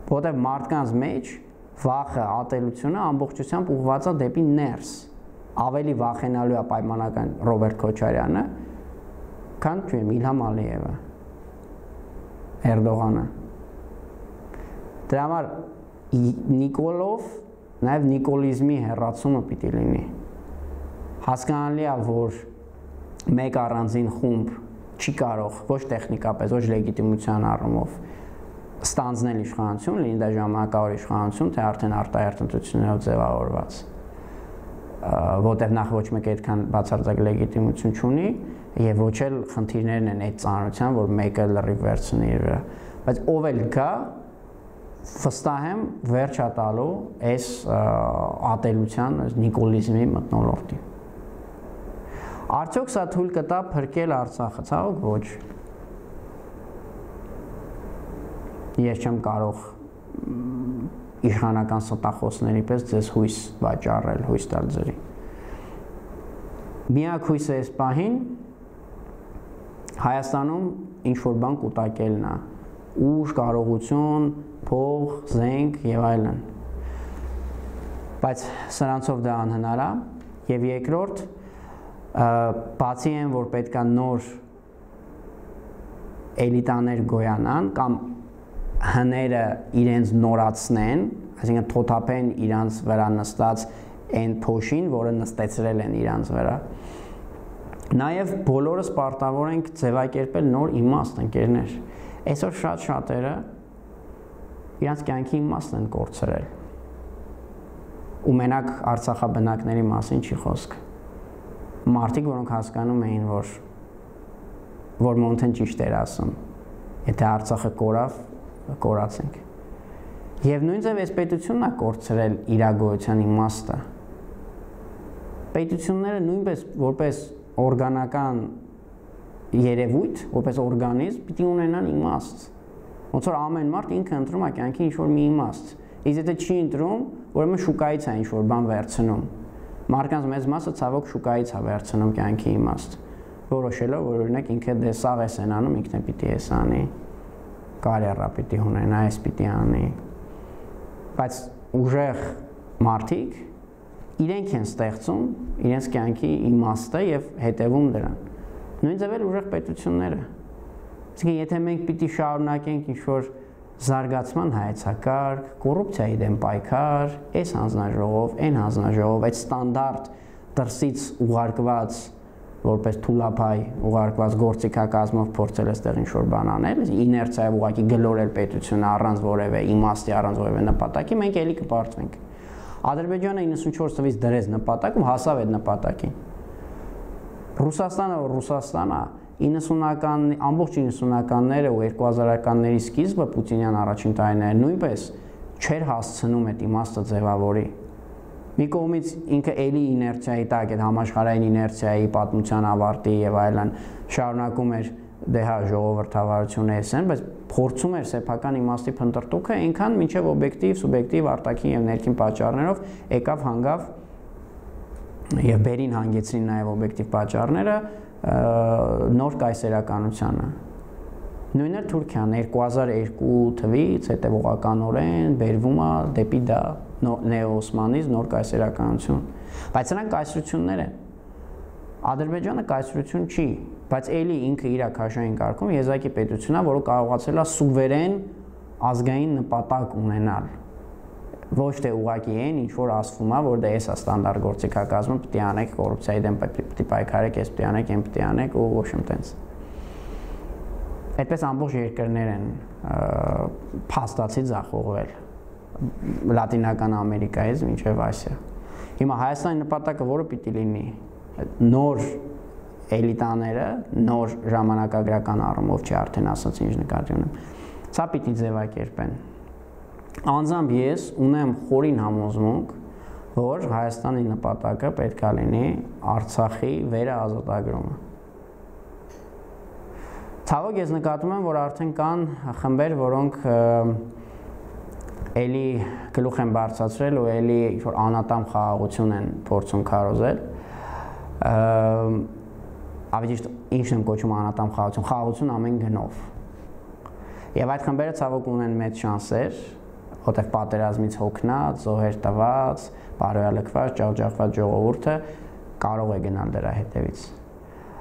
Որտեղ մարդկանց մեջ վախը, ատելությունը ամբողջությամբ ուղղված է դեպի ներս։ Ավելի վախենալու է պայմանական Ռոբերտ Քոչարյանը, քան չեմ Իլհամ Ալիևը, Էրդողանը։ Դրա համար Նիկոլով նաև նիկոլիզմի հեռացումը պիտի լինի։ Հասկանալի է, որ մեկ առանձին խումբ չի կարող ոչ տեխնիկապես, ոչ լեգիտիմության առումով ստանձնել իշխանություն, լինի դա ժամանակավոր իշխանություն, թե արդեն արտահերթ ընտրություններով ձևավորված, որտեղ նախ ոչ մեկ այդքան բացարձակ լեգիտիմություն չունի եւ ոչ էլ խնդիրներն են այդ ծանրության, որ մեկը լրիվ վերցնի իր վրա, բայց ով էլ գա վստահ եմ վերջ է տալու այս ատելության, նիկոլիզմի մթնոլորտին։ Արդյոք սա թույլ կտա փրկել Արցախը, ցավոք ոչ։ Ես չեմ կարող իշխանական ստախոսների պես ձեզ հույս վաճառել, հույս տալ ձերի։ Միակ հույսը այս պահին Հայաստանում ինչ-որ բան կուտակելն է, ուժ, կարողություն, փող, զենք եւ այլն։ Բայց սրանցով դա անհնար է եւ երկրորդ բացի այն, որ պետքա նոր էլիտաներ գոյանան կամ հները իրենց նորացնեն, այսինքն թոթափեն իրանց վրա նստած այն փոշին, որը նստեցրել են իրանց վրա։ Նաև բոլորս պարտավոր ենք ձևակերպել նոր իմաստ, ընկերներ։ Այսօր շատ շատերը իրանց կյանքի իմաստն են կորցրել։ Ու մենակ Արցախաբնակների մասին չի խոսք։ Մարդիկ, որոնք հասկանում էին, որ որ Մոնթեն ճիշտ էր ասում, եթե Արցախը կորավ, կորացենք։ Եվ նույնիսկ այս պետությունն է կորցրել իր գոյության իմաստը։ Պետությունները նույնպես որպես օրգանական երևույթ, որպես օրգանիզմ պիտի ունենան իմաստ։ Ոնց որ ամեն մարդ ինքը ընտրում է կյանքի ինչ-որ մի իմաստ։ Իսկ եթե չի ընտրում, ուրեմն շուկայից է ինչ-որ բան վերցնում։ Մարդկանց մեծ մասը ցավոք շուկայից է վերցնում կյանքի իմաստ, որոշելով, որ օրինակ ինքը դե սաղ է սենանում, ինքն է պիտի էս անի, կարիերա պիտի ունենա, այս պիտի անի։ Բայց ուժեղ մարդիկ իրենք են ստեղծում իրենց կյանքի իմաստը եւ հետևում դրան։ Նույն ձև էլ ուժեղ պետությունները։ Իսկ եթե մենք պիտի շարունակենք ինչ-որ զարգացման հայեցակարգ, կոռուպցիայի դեմ պայքար, այս հանձնաժողով, այն հանձնաժողով, այդ ստանդարտ դրսից ուղարկված որպես թուլափայ ուղարկված գործիքակազմով փորձել էստեղ ինչ-որ բան անել, իներցիայով ուղղակի գլորել պետությունը առանց որևէ իմաստի, առանց որևէ նպատակի, մենք էլի կպարտվենք։ Ադրբեջանը իննսունչորս թվականից դրեց նպատակ ու հասավ այդ նպատակին։ Ռուսաստանը, որ Ռուսաստան է, իննսունական, ամբողջ իննսունականները ու երկու հազարականների սկիզբը Պուտինյան առաջին տարիները նույնպես չէր հասցնում այդ իմաստը ձևավորի։ Մի կողմից ինքը էլի իներցիայի տակ, այդ համաշխարհային իներցիայի պատմության ավարտի եւ այլն շարունակում էր դե հա ժողովրդավարությունը էսեն, բայց փորձում էր սեփական իմաստի փնտրտուքը այնքան մինչև օբյեկտիվ, սուբյեկտիվ, արտաքին եւ ներքին պատճառներով եկավ հանգավ եւ բերին հանգեցրին նաեւ օբյեկտիվ պատճառները նոր կայսերականությանը։ Նույնը Թուրքիան երկու հազար երկու թվականից հետևողականորեն բերվում է դեպի դա նեոօսմանիզմ, նոր կայսերականություն։ Բայց նրանք կայսրություններ են։ Ադրբեջանը կայսրություն չի, բայց էլի ինքը իր քաշային կարգում եզակի պետությունն է, որը կարողացել է սուվերեն ազգային նպատակ ունենալ։ Ոչ թե ուղղակի այն, ինչ որ ասվում է, որ դա էս է ստանդարտ գործիքակազմը, պիտի անեք կոռուպցիայի դեմ պիտի պայքարեք, էս պիտի անեք, այն պիտի անեք ու ոչ իմ տենց։ Այդպես ամբողջ երկրներ են փաստացի ձախողվել Լատինական Ամերիկայից մինչև Ասիա։ Հիմա Հայաստանի նպատակը որը պիտի լինի, նոր էլիտաները, նոր ժամանակագրական առումով չի արդեն ասած ինչ նկատի ունեմ, Սա պիտի ձևակերպեն։ Անձամբ ես ունեմ խորին համոզմունք, որ Հայաստանի նպատակը պետք է լինի Արցախի վերաազատագրումը։ Ցավոք ես նկատում եմ, որ արդեն կան խմբեր, որոնք էլի գլուխ են բարձրացրել ու էլի ինչ-որ անատամ խաղաղություն են փորձում քարոզել։ Ավելի ճիշտ ինչն եմ կոչում անատամ խաղաղություն, խաղաղություն ամեն գնով։ Եվ այդ խմբերը ցավոք ունեն մեծ շանսեր, որտեղ պատերազմից հոգնած, զոհեր տված, բարոյալքված, ջախջախված ժողովուրդը կարող է գնալ դրա հետևից։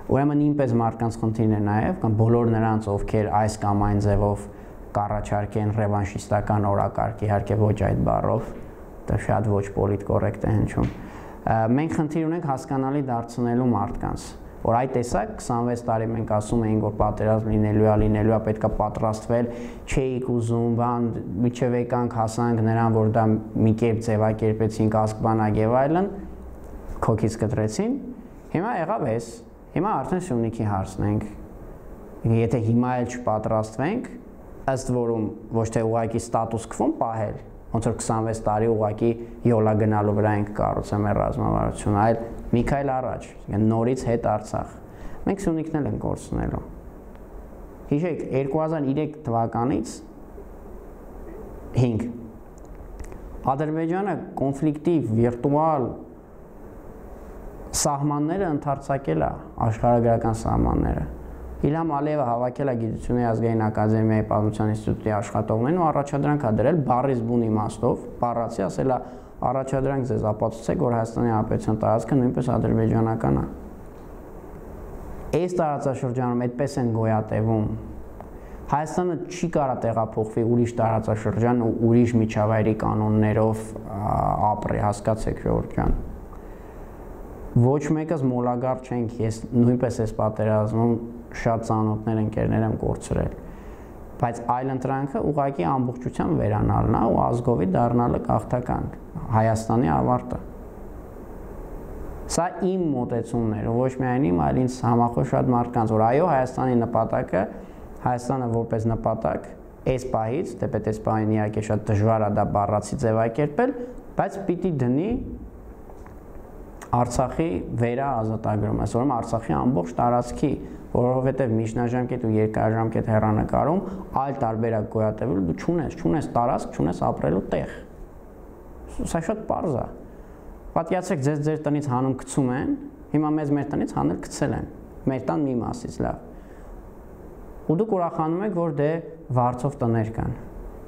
Ուրեմն ինպես մարդկանց խնդիրն է նաև, կամ բոլոր նրանց, ովքեր այս կամ այն ձևով կառաջարկեն ռևանշիստական օրակարգ, իհարկե ոչ այդ բառով, դա շատ ոչ պոլիտկորեկտ է հնչում։ Մենք խնդիր ունենք հասկանալի դարձնելու մարդկանց, որ այդ տեսակ քսանվեց տարի մենք ասում էինք, որ պատերազմ լինելու է, լինելու է, պետք է պատրաստվել, չէիք ուզում, բան, միջև եկանք հասանք նրան, որ դա մի կերպ ձևակերպեցին, կասկբանակ եւ այլն, քոքից կտրեցին, հիմա եղավ էս, հիմա արդեն Սյունիքի հարցն ենք, եթե հիմա էլ չպատրաստվենք, ըստ որում ոչ թե ուղղակի ստատուս քվոն պահել, ոնց որ քսանվեց տարի ուղղակի յոլա գնալու վրա ենք կառուցել մեր ռազմավարությունը, այլ մի քայլ առաջ, նորից հետ Արցախ։ Մենք Սյունիքն էլ ենք կորցնելու։ Հիշեք, երկու հազար երեք թվականից հինգ Ադրբեջանը կոնֆլիկտի վիրտուալ սահմանները ընդարձակել է, աշխարհագրական սահմանները։ Իլհամ Ալիևը հավաքել է Գիտությունների ազգային ակադեմիայի պատմության ինստիտուտի աշխատողներին ու առաջադրանք է դրել բառից բուն իմաստով, բառացի ասել է առաջադրանք ձեզ ապացուցեք, որ Հայաստանի Հանրապետության տարածքը նույնպես ադրբեջանական է։ Այս տարածաշրջանում այդպես են գոյատևում։ Հայաստանը չի կարա տեղափոխվի ուրիշ տարածաշրջան ու ուրիշ միջավայրի կանոններով ապրի, հասկացեք ժողովուրդ ջան։ Ոչ մեկս մոլագար չենք, ես նույնպես այս պատերազմում շատ ծանոթներ ընկերներ եմ կորցրել, բայց այլընտրանքը ուղղակի ամբողջությամբ վերանալն է ու ազգովի դառնալը գաղթական, Հայաստանի ավարտը։ Սա իմ մոտեցումն էր, ոչ միայն իմ, այլ ինձ համախոհ շատ մարդկանց, որ այո, Հայաստանի նպատակը, Հայաստանը որպես նպատակ, այս պահից, թեպետ այս պահին իհարկե շատ դժվար է դա բառացի ձևակերպել, բայց պիտի դնի Արցախի վերաազատագրում, այսօրում Արցախի ամբողջ տարածքի, որովհետև միջնաժամկետ ու երկարաժամկետ հեռանկարում այլ տարբերակ գոյատևելու դու չունես, չունես տարածք, չունես ապրելու տեղ։ Սա շատ պարզ է։ Պատկերացրեք, ձեզ ձեր տնից հանում գցում են, հիմա մեզ մեր տնից հանել գցել են, մեր տան մի մասից լավ։ Ու դուք ուրախանում եք, որ դե վարձով տներ կան։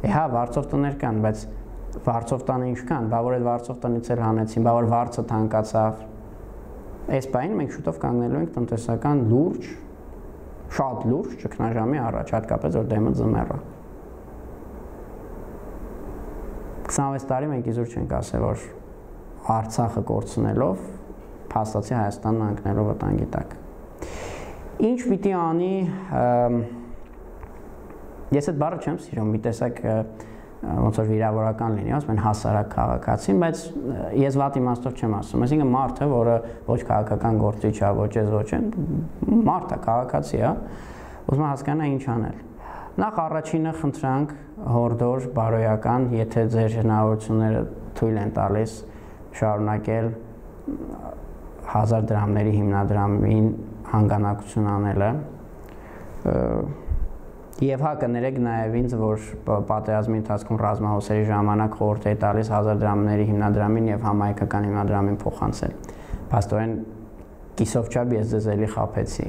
Է հա, վարձով տներ կան, բայց վարձով տանը ինչ կան, բա որ այդ վարձով տնից էլ հանեցին, բա որ վարձը թանկացավ։ Այս պահին մենք շուտով կանգնելու ենք տնտեսական լուրջ, շատ լուրջ ճգնաժամի առաջ, հատկապես որ դեմը ձմեռ է։ քսանվեց տարի մենք իզուր չենք ասել, որ Արցախը կորցնելով փաստացի Հայաստանն ընկնելու վտանգի տակ։ Ինչ պիտի անի, ես այդ բառը չեմ սիրում, մի տեսակ ոնց որ վիրավորական լինի, ասում են հասարակ քաղաքացին, բայց ես վատ իմաստով չեմ ասում, այսինքն մարդը, որը ոչ քաղաքական գործիչ է, ոչ էս ոչ են, մարդ է, քաղաքացի է, ուզում հասկանա ինչ անել։ Նախ առաջինը խնդրանք հորդոր, բարոյական, եթե ձեր հնարավորությունները թույլ են տալիս շարունակել հազար դրամների հիմնադրամին հանգանակություն անելը, Եվ հա կներեք նաև ինձ, որ պատերազմի ընթացքում ռազմահոսերի ժամանակ խորհուրդ է տալիս հազար դրամների հիմնադրամին եւ համայնքական հիմնադրամին փոխանցել։ Փաստորեն կիսով չափ ես ձեզ էլի խաբեցի,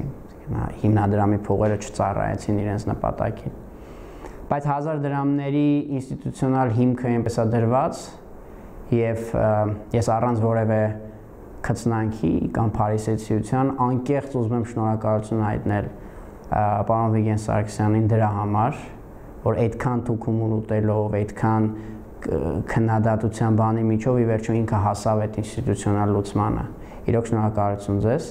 հիմնադրամի փողերը չծառայեցին իրենց նպատակին։ Բայց հազար դրամների ինստիտուցիոնալ հիմքը այնպես է դրված եւ ես առանց որևէ քծնանքի կամ փարիսեցիության անկեղծ ուզում եմ շնորհակալություն հայտնել պարոն Վիգեն Սարգսյանին դրա համար, որ այդքան թուքում ուտելով, այդքան քննադատության բանի միջով ի վերջո ինքը հասավ այդ ինստիտուցիոնալ լուծմանը։ Իրոք շնորհակալություն ձեզ։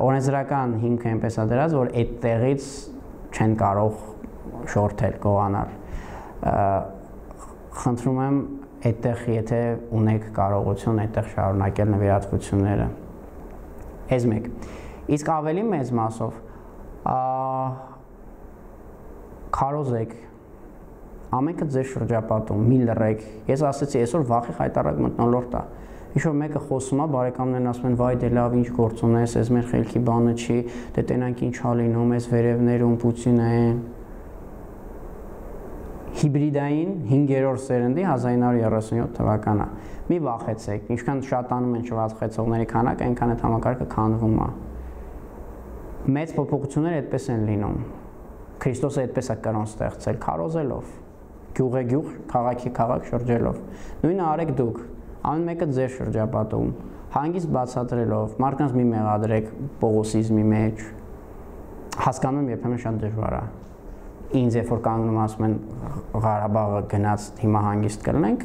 Օրենսդրական հիմքը այնպես է դրած, որ այդ տեղից չեն կարող շորթել, գողանալ։ Խնդրում եմ այդտեղ եթե ունեք կարողություն այդտեղ շարունակել նվիրատվությունները։ Այս մեկ։ Իսկ ավելի մեծ մասով քարոզեք, ամենքը ձեր շրջապատում, մի լռեք։ Ես ասացի, այսօր վախի խայտարակ մթնոլորտ է։ Ինչ-որ մեկը խոսում է, բարեկամներն ասում են, վայ դե լավ, ինչ գործ ունես, այս մեր խելքի բանը չի, դե տենանք ինչ ա լինում, այս վերևներում Պուտինը են։ Հիբրիդային հինգերորդ սերնդի հազար ինը հարյուր երեսունյոթ թվականն է։ Մի վախեցեք, ինչքան շատանում են շվացխեցողների քանակը, այնքան այդ համակարգը քանդվում է։ Մեծ փոփոխությունները այդպես են լինում։ Քրիստոսը այդպես է կրոն ստեղծել, քարոզելով, գյուղե-գյուղ, քաղաքի-քաղաք շրջելով։ Նույնը արեք դուք, ամեն մեկը ձեր շրջապատում, հանգիստ բացատրելով, մարդկանց մի մեղադրեք պողոսիզմի մեջ, հասկանում եմ երբեմն շատ դժվար է։ Ինձ երբ որ կանգնում ասում են Ղարաբաղը գնաց հիմա հանգիստ կլինենք,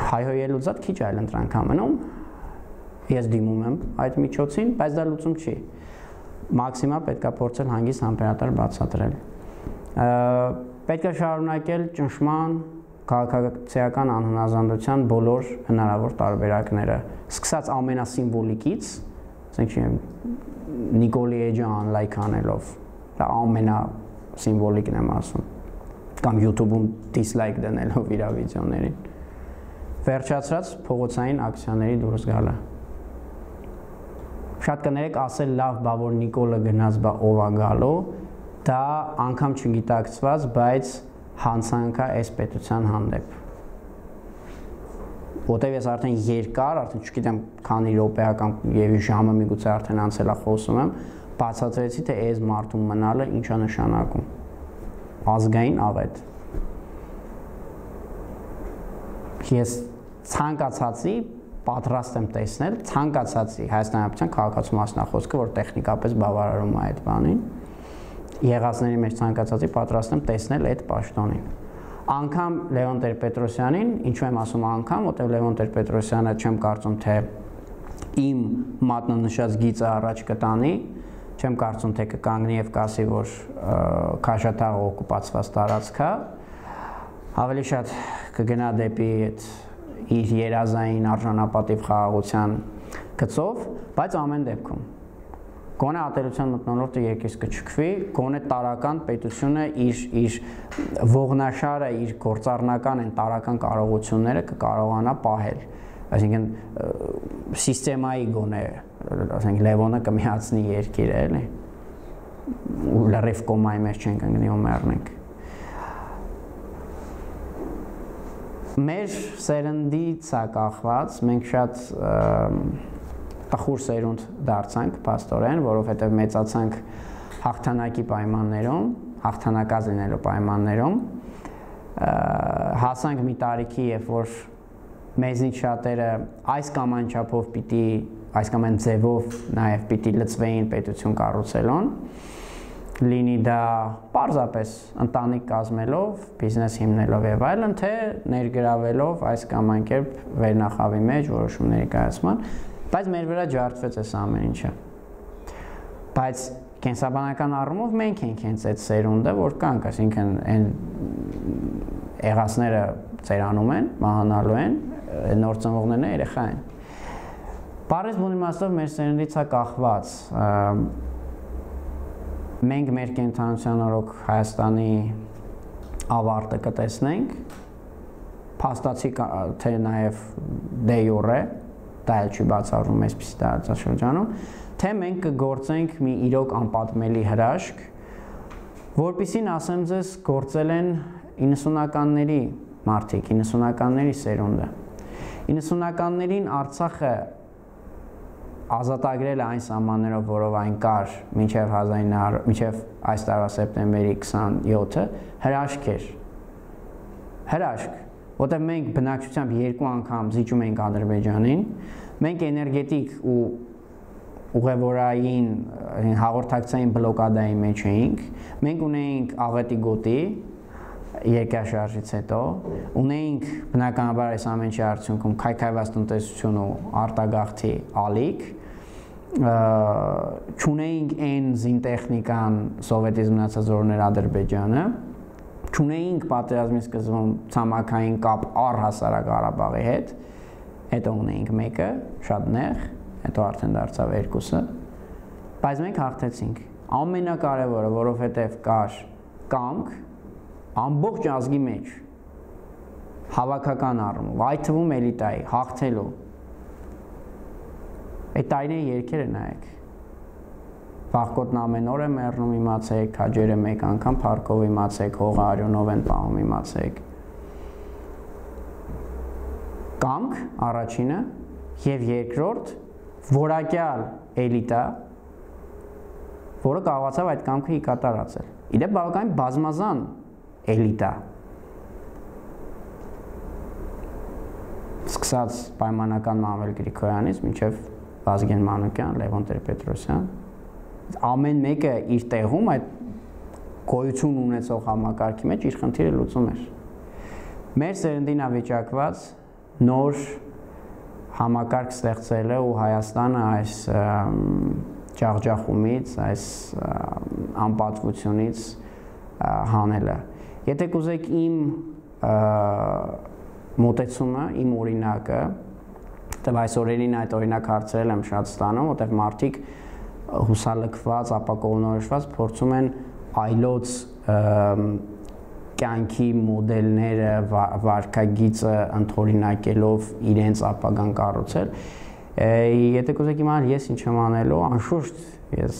հայհոյելու զատ քիչ այլ ընտրանք ամենում, ես դիմում եմ այդ միջոցին, բայց դա լուծում չի։ Մաքսիմալ պետք է փորձել հանգիստ համբերատար բացատրել։ Պետք է շարունակել ճնշման, քաղաքացիական անհնազանդության բոլոր հնարավոր տարբերակները, սկսած ամենասիմվոլիկից, ասենք չեմ Նիկոլի Էջը անլայք անելով, դա ամենասիմվոլիկն եմ ասում, կամ YouTube-ում դիսլայք դնելով իր վիդեոներին, վերջացրած փողոցային ակցիաների դուրս գալը։ Շատ կներեք ասել լավ, բա որ Նիկոլը գնաց, բա ով է գալու, դա անգամ չգիտակցված, բայց հանցանք է այս պետության հանդեպ։ Որտեւ ես արդեն երկար, արդեն չգիտեմ քանի րոպեական եւ ժամը միգուցե արդեն անցել է խոսում եմ, բացատրեցի թե այս մարդուն մնալը ինչա նշանակում։ Ազգային աղետ։ Ես ցանկացածի պատրաստ եմ տեսնել, ցանկացածի հայաստանյան քաղաքացու մասնախոսքը, որ տեխնիկապես բավարարում է այդ բանին, եղածների մեջ ցանկացածի պատրաստ եմ տեսնել այդ պաշտոնին։ Անգամ Լևոն Տեր-Պետրոսյանին, ինչու եմ ասում անգամ, որտեղ Լևոն Տեր-Պետրոսյանը չեմ կարծում թե իմ մատնանշած գիծը առաջ կտանի, չեմ կարծում թե կկանգնի եւ կասի, որ Քաշաթաղը օկուպացված տարածք է, ավելի շատ կգնա դեպի այդ իր երազային արժանապատիվ խաղաղության գծով, բայց ամեն դեպքում գոնե ատելության մթնոլորտը երկիս կչքվի, գոնե տարական պետությունը իր իր ողնաշարը, իր գործառնական են տարական կարողությունները կկարողանա պահել, այսինքն սիստեմայի գոնե, ասենք Լևոնը կմիացնի երկիրը, էլի, ու լրիվ կոմայի մեջ չենք ընկնի ու մեռնենք։ Մեր սերնդից է կախված, մենք շատ տխուր սերունդ դարձանք փաստորեն, որովհետև մեծացանք հաղթանակի պայմաններում, հաղթանակած լինելու պայմաններում, հասանք մի տարիքի, երբ որ մեզնից շատերը այս կամ այն չափով պիտի, այս կամ այն ձևով նաև պիտի լծվեին պետություն կառուցելուն, լինի դա պարզապես ընտանիք կազմելով, բիզնես հիմնելով եւ այլն, թե ներգրավելով այս կամ այն կերպ վերնախավի մեջ որոշումների կայացման, բայց մեր վրա ջարդվեց այս ամեն ինչը։ Բայց կենսաբանական առումով մենք ենք հենց այդ սերունդը, որ կանք, այսինքն այն եղածները ծերանում են, մահանալու են, նոր ծնվողներն երեխա են։ Պարզ բուն իմաստով մեր սերնդից է կախված։ Մենք մեր կենթանության օրոք Հայաստանի ավարտը կտեսնենք, փաստացի թե նաև դե յուրե, դա էլ չի բացառվում այսպիսի տարածաշրջանում, թե մենք կգործենք մի իրոք անպատմելի հրաշք, որպեսզի ասեմ ձեզ գործել են իննսունականների մարդիկ, իննսունականների սերունդը։ իննսունականներին Արցախը ազատագրել է այն սահմաններով, որով այն կար մինչև հազար ինը հարյուր, մինչև այս տարվա սեպտեմբերի քսանյոթը, հրաշք էր։ Հրաշք, որտեղ մենք բնակչությամբ երկու անգամ զիջում էինք Ադրբեջանին, մենք էներգետիկ ու ուղևորային հաղորդակցային բլոկադայի մեջ էինք, մենք ունեինք աղետի գոտի երկրաշարժից հետո, ունեինք բնականաբար այս ամեն ինչի արդյունքում քայքայված տնտեսություն ու արտագաղթի ալիք, չունեինք այն զինտեխնիկան սովետից մնացած որներ Ադրբեջանը, չունեինք պատերազմի սկզբում ցամաքային կապ առհասարակ Ղարաբաղի հետ, հետո ունեինք մեկը, շատ նեղ, հետո արդեն դարձավ երկուսը, բայց մենք հաղթեցինք։ Ամենակարևորը, որովհետև կար կամք, ամբողջ ազգի մեջ հավաքական առումով, այդ թվում էլիտայի հաղթելու այդ տարիների երգերը նայեք, վաղկոտն ամեն օր է մեռնում իմացեք, հաջերը մեկ անգամ փառքով իմացեք, հողը արյունով են պահում իմացեք, կամք առաջինը և երկրորդ որակյալ էլիտա, որը կարողացավ այդ կամքը ի կատարածել։ Իդեպ բավականին բազմազան էլիտա, սկսած պայմանական Մանվել Գրիգորյանից մինչև Վազգեն Մանուկյան, Լևոն Տեր-Պետրոսյան, ամեն մեկը իր տեղում այդ գոյություն ունեցող համակարգի մեջ իր խնդիրը լուծում էր։ Մեր սերնդին ավիճակված նոր համակարգ ստեղծելը ու Հայաստանը այս ջախջախումից, այս անպատվությունից հանելը։ Եթե կուզեք իմ մոտեցումը, իմ օրինակը, որտեղ այս օրերին այդ օրինակ հարցերել եմ շատ ստանում, որտեղ մարդիկ հուսալքված, ապակողմնորոշված փորձում են այլոց կյանքի մոդելները, վարքագիծը ընդօրինակելով իրենց ապագան կառուցել։ Եթե կուզեք իմանալ ես ինչ եմ անելու, անշուշտ ես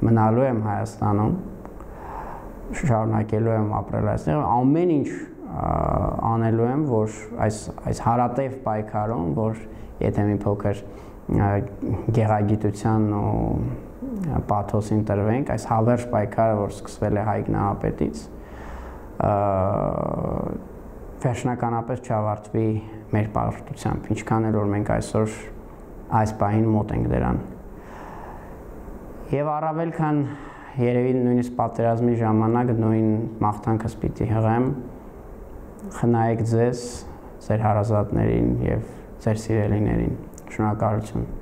մնալու եմ Հայաստանում, շարունակելու եմ ապրել այստեղ, ամեն ինչ անելու եմ, որ այս այս հարատև պայքարում, որ եթե մի փոքր գեղագիտության ու պաթոսին տրվենք, այս հավերժ պայքարը, որ սկսվել է Հայկ Նահապետից, վերջնականապես չավարտվի մեր պարտությամբ, ինչքան էլ որ մենք այսօր այս պահին մոտ ենք դրան։ Եվ առավել քան երևի նույնիսկ պատերազմի ժամանակ նույն մաղթանքս պիտի հղեմ, խնայեք ձեզ, ձեր հարազատներին և ձեր սիրելիներին։ Շնորհակալություն։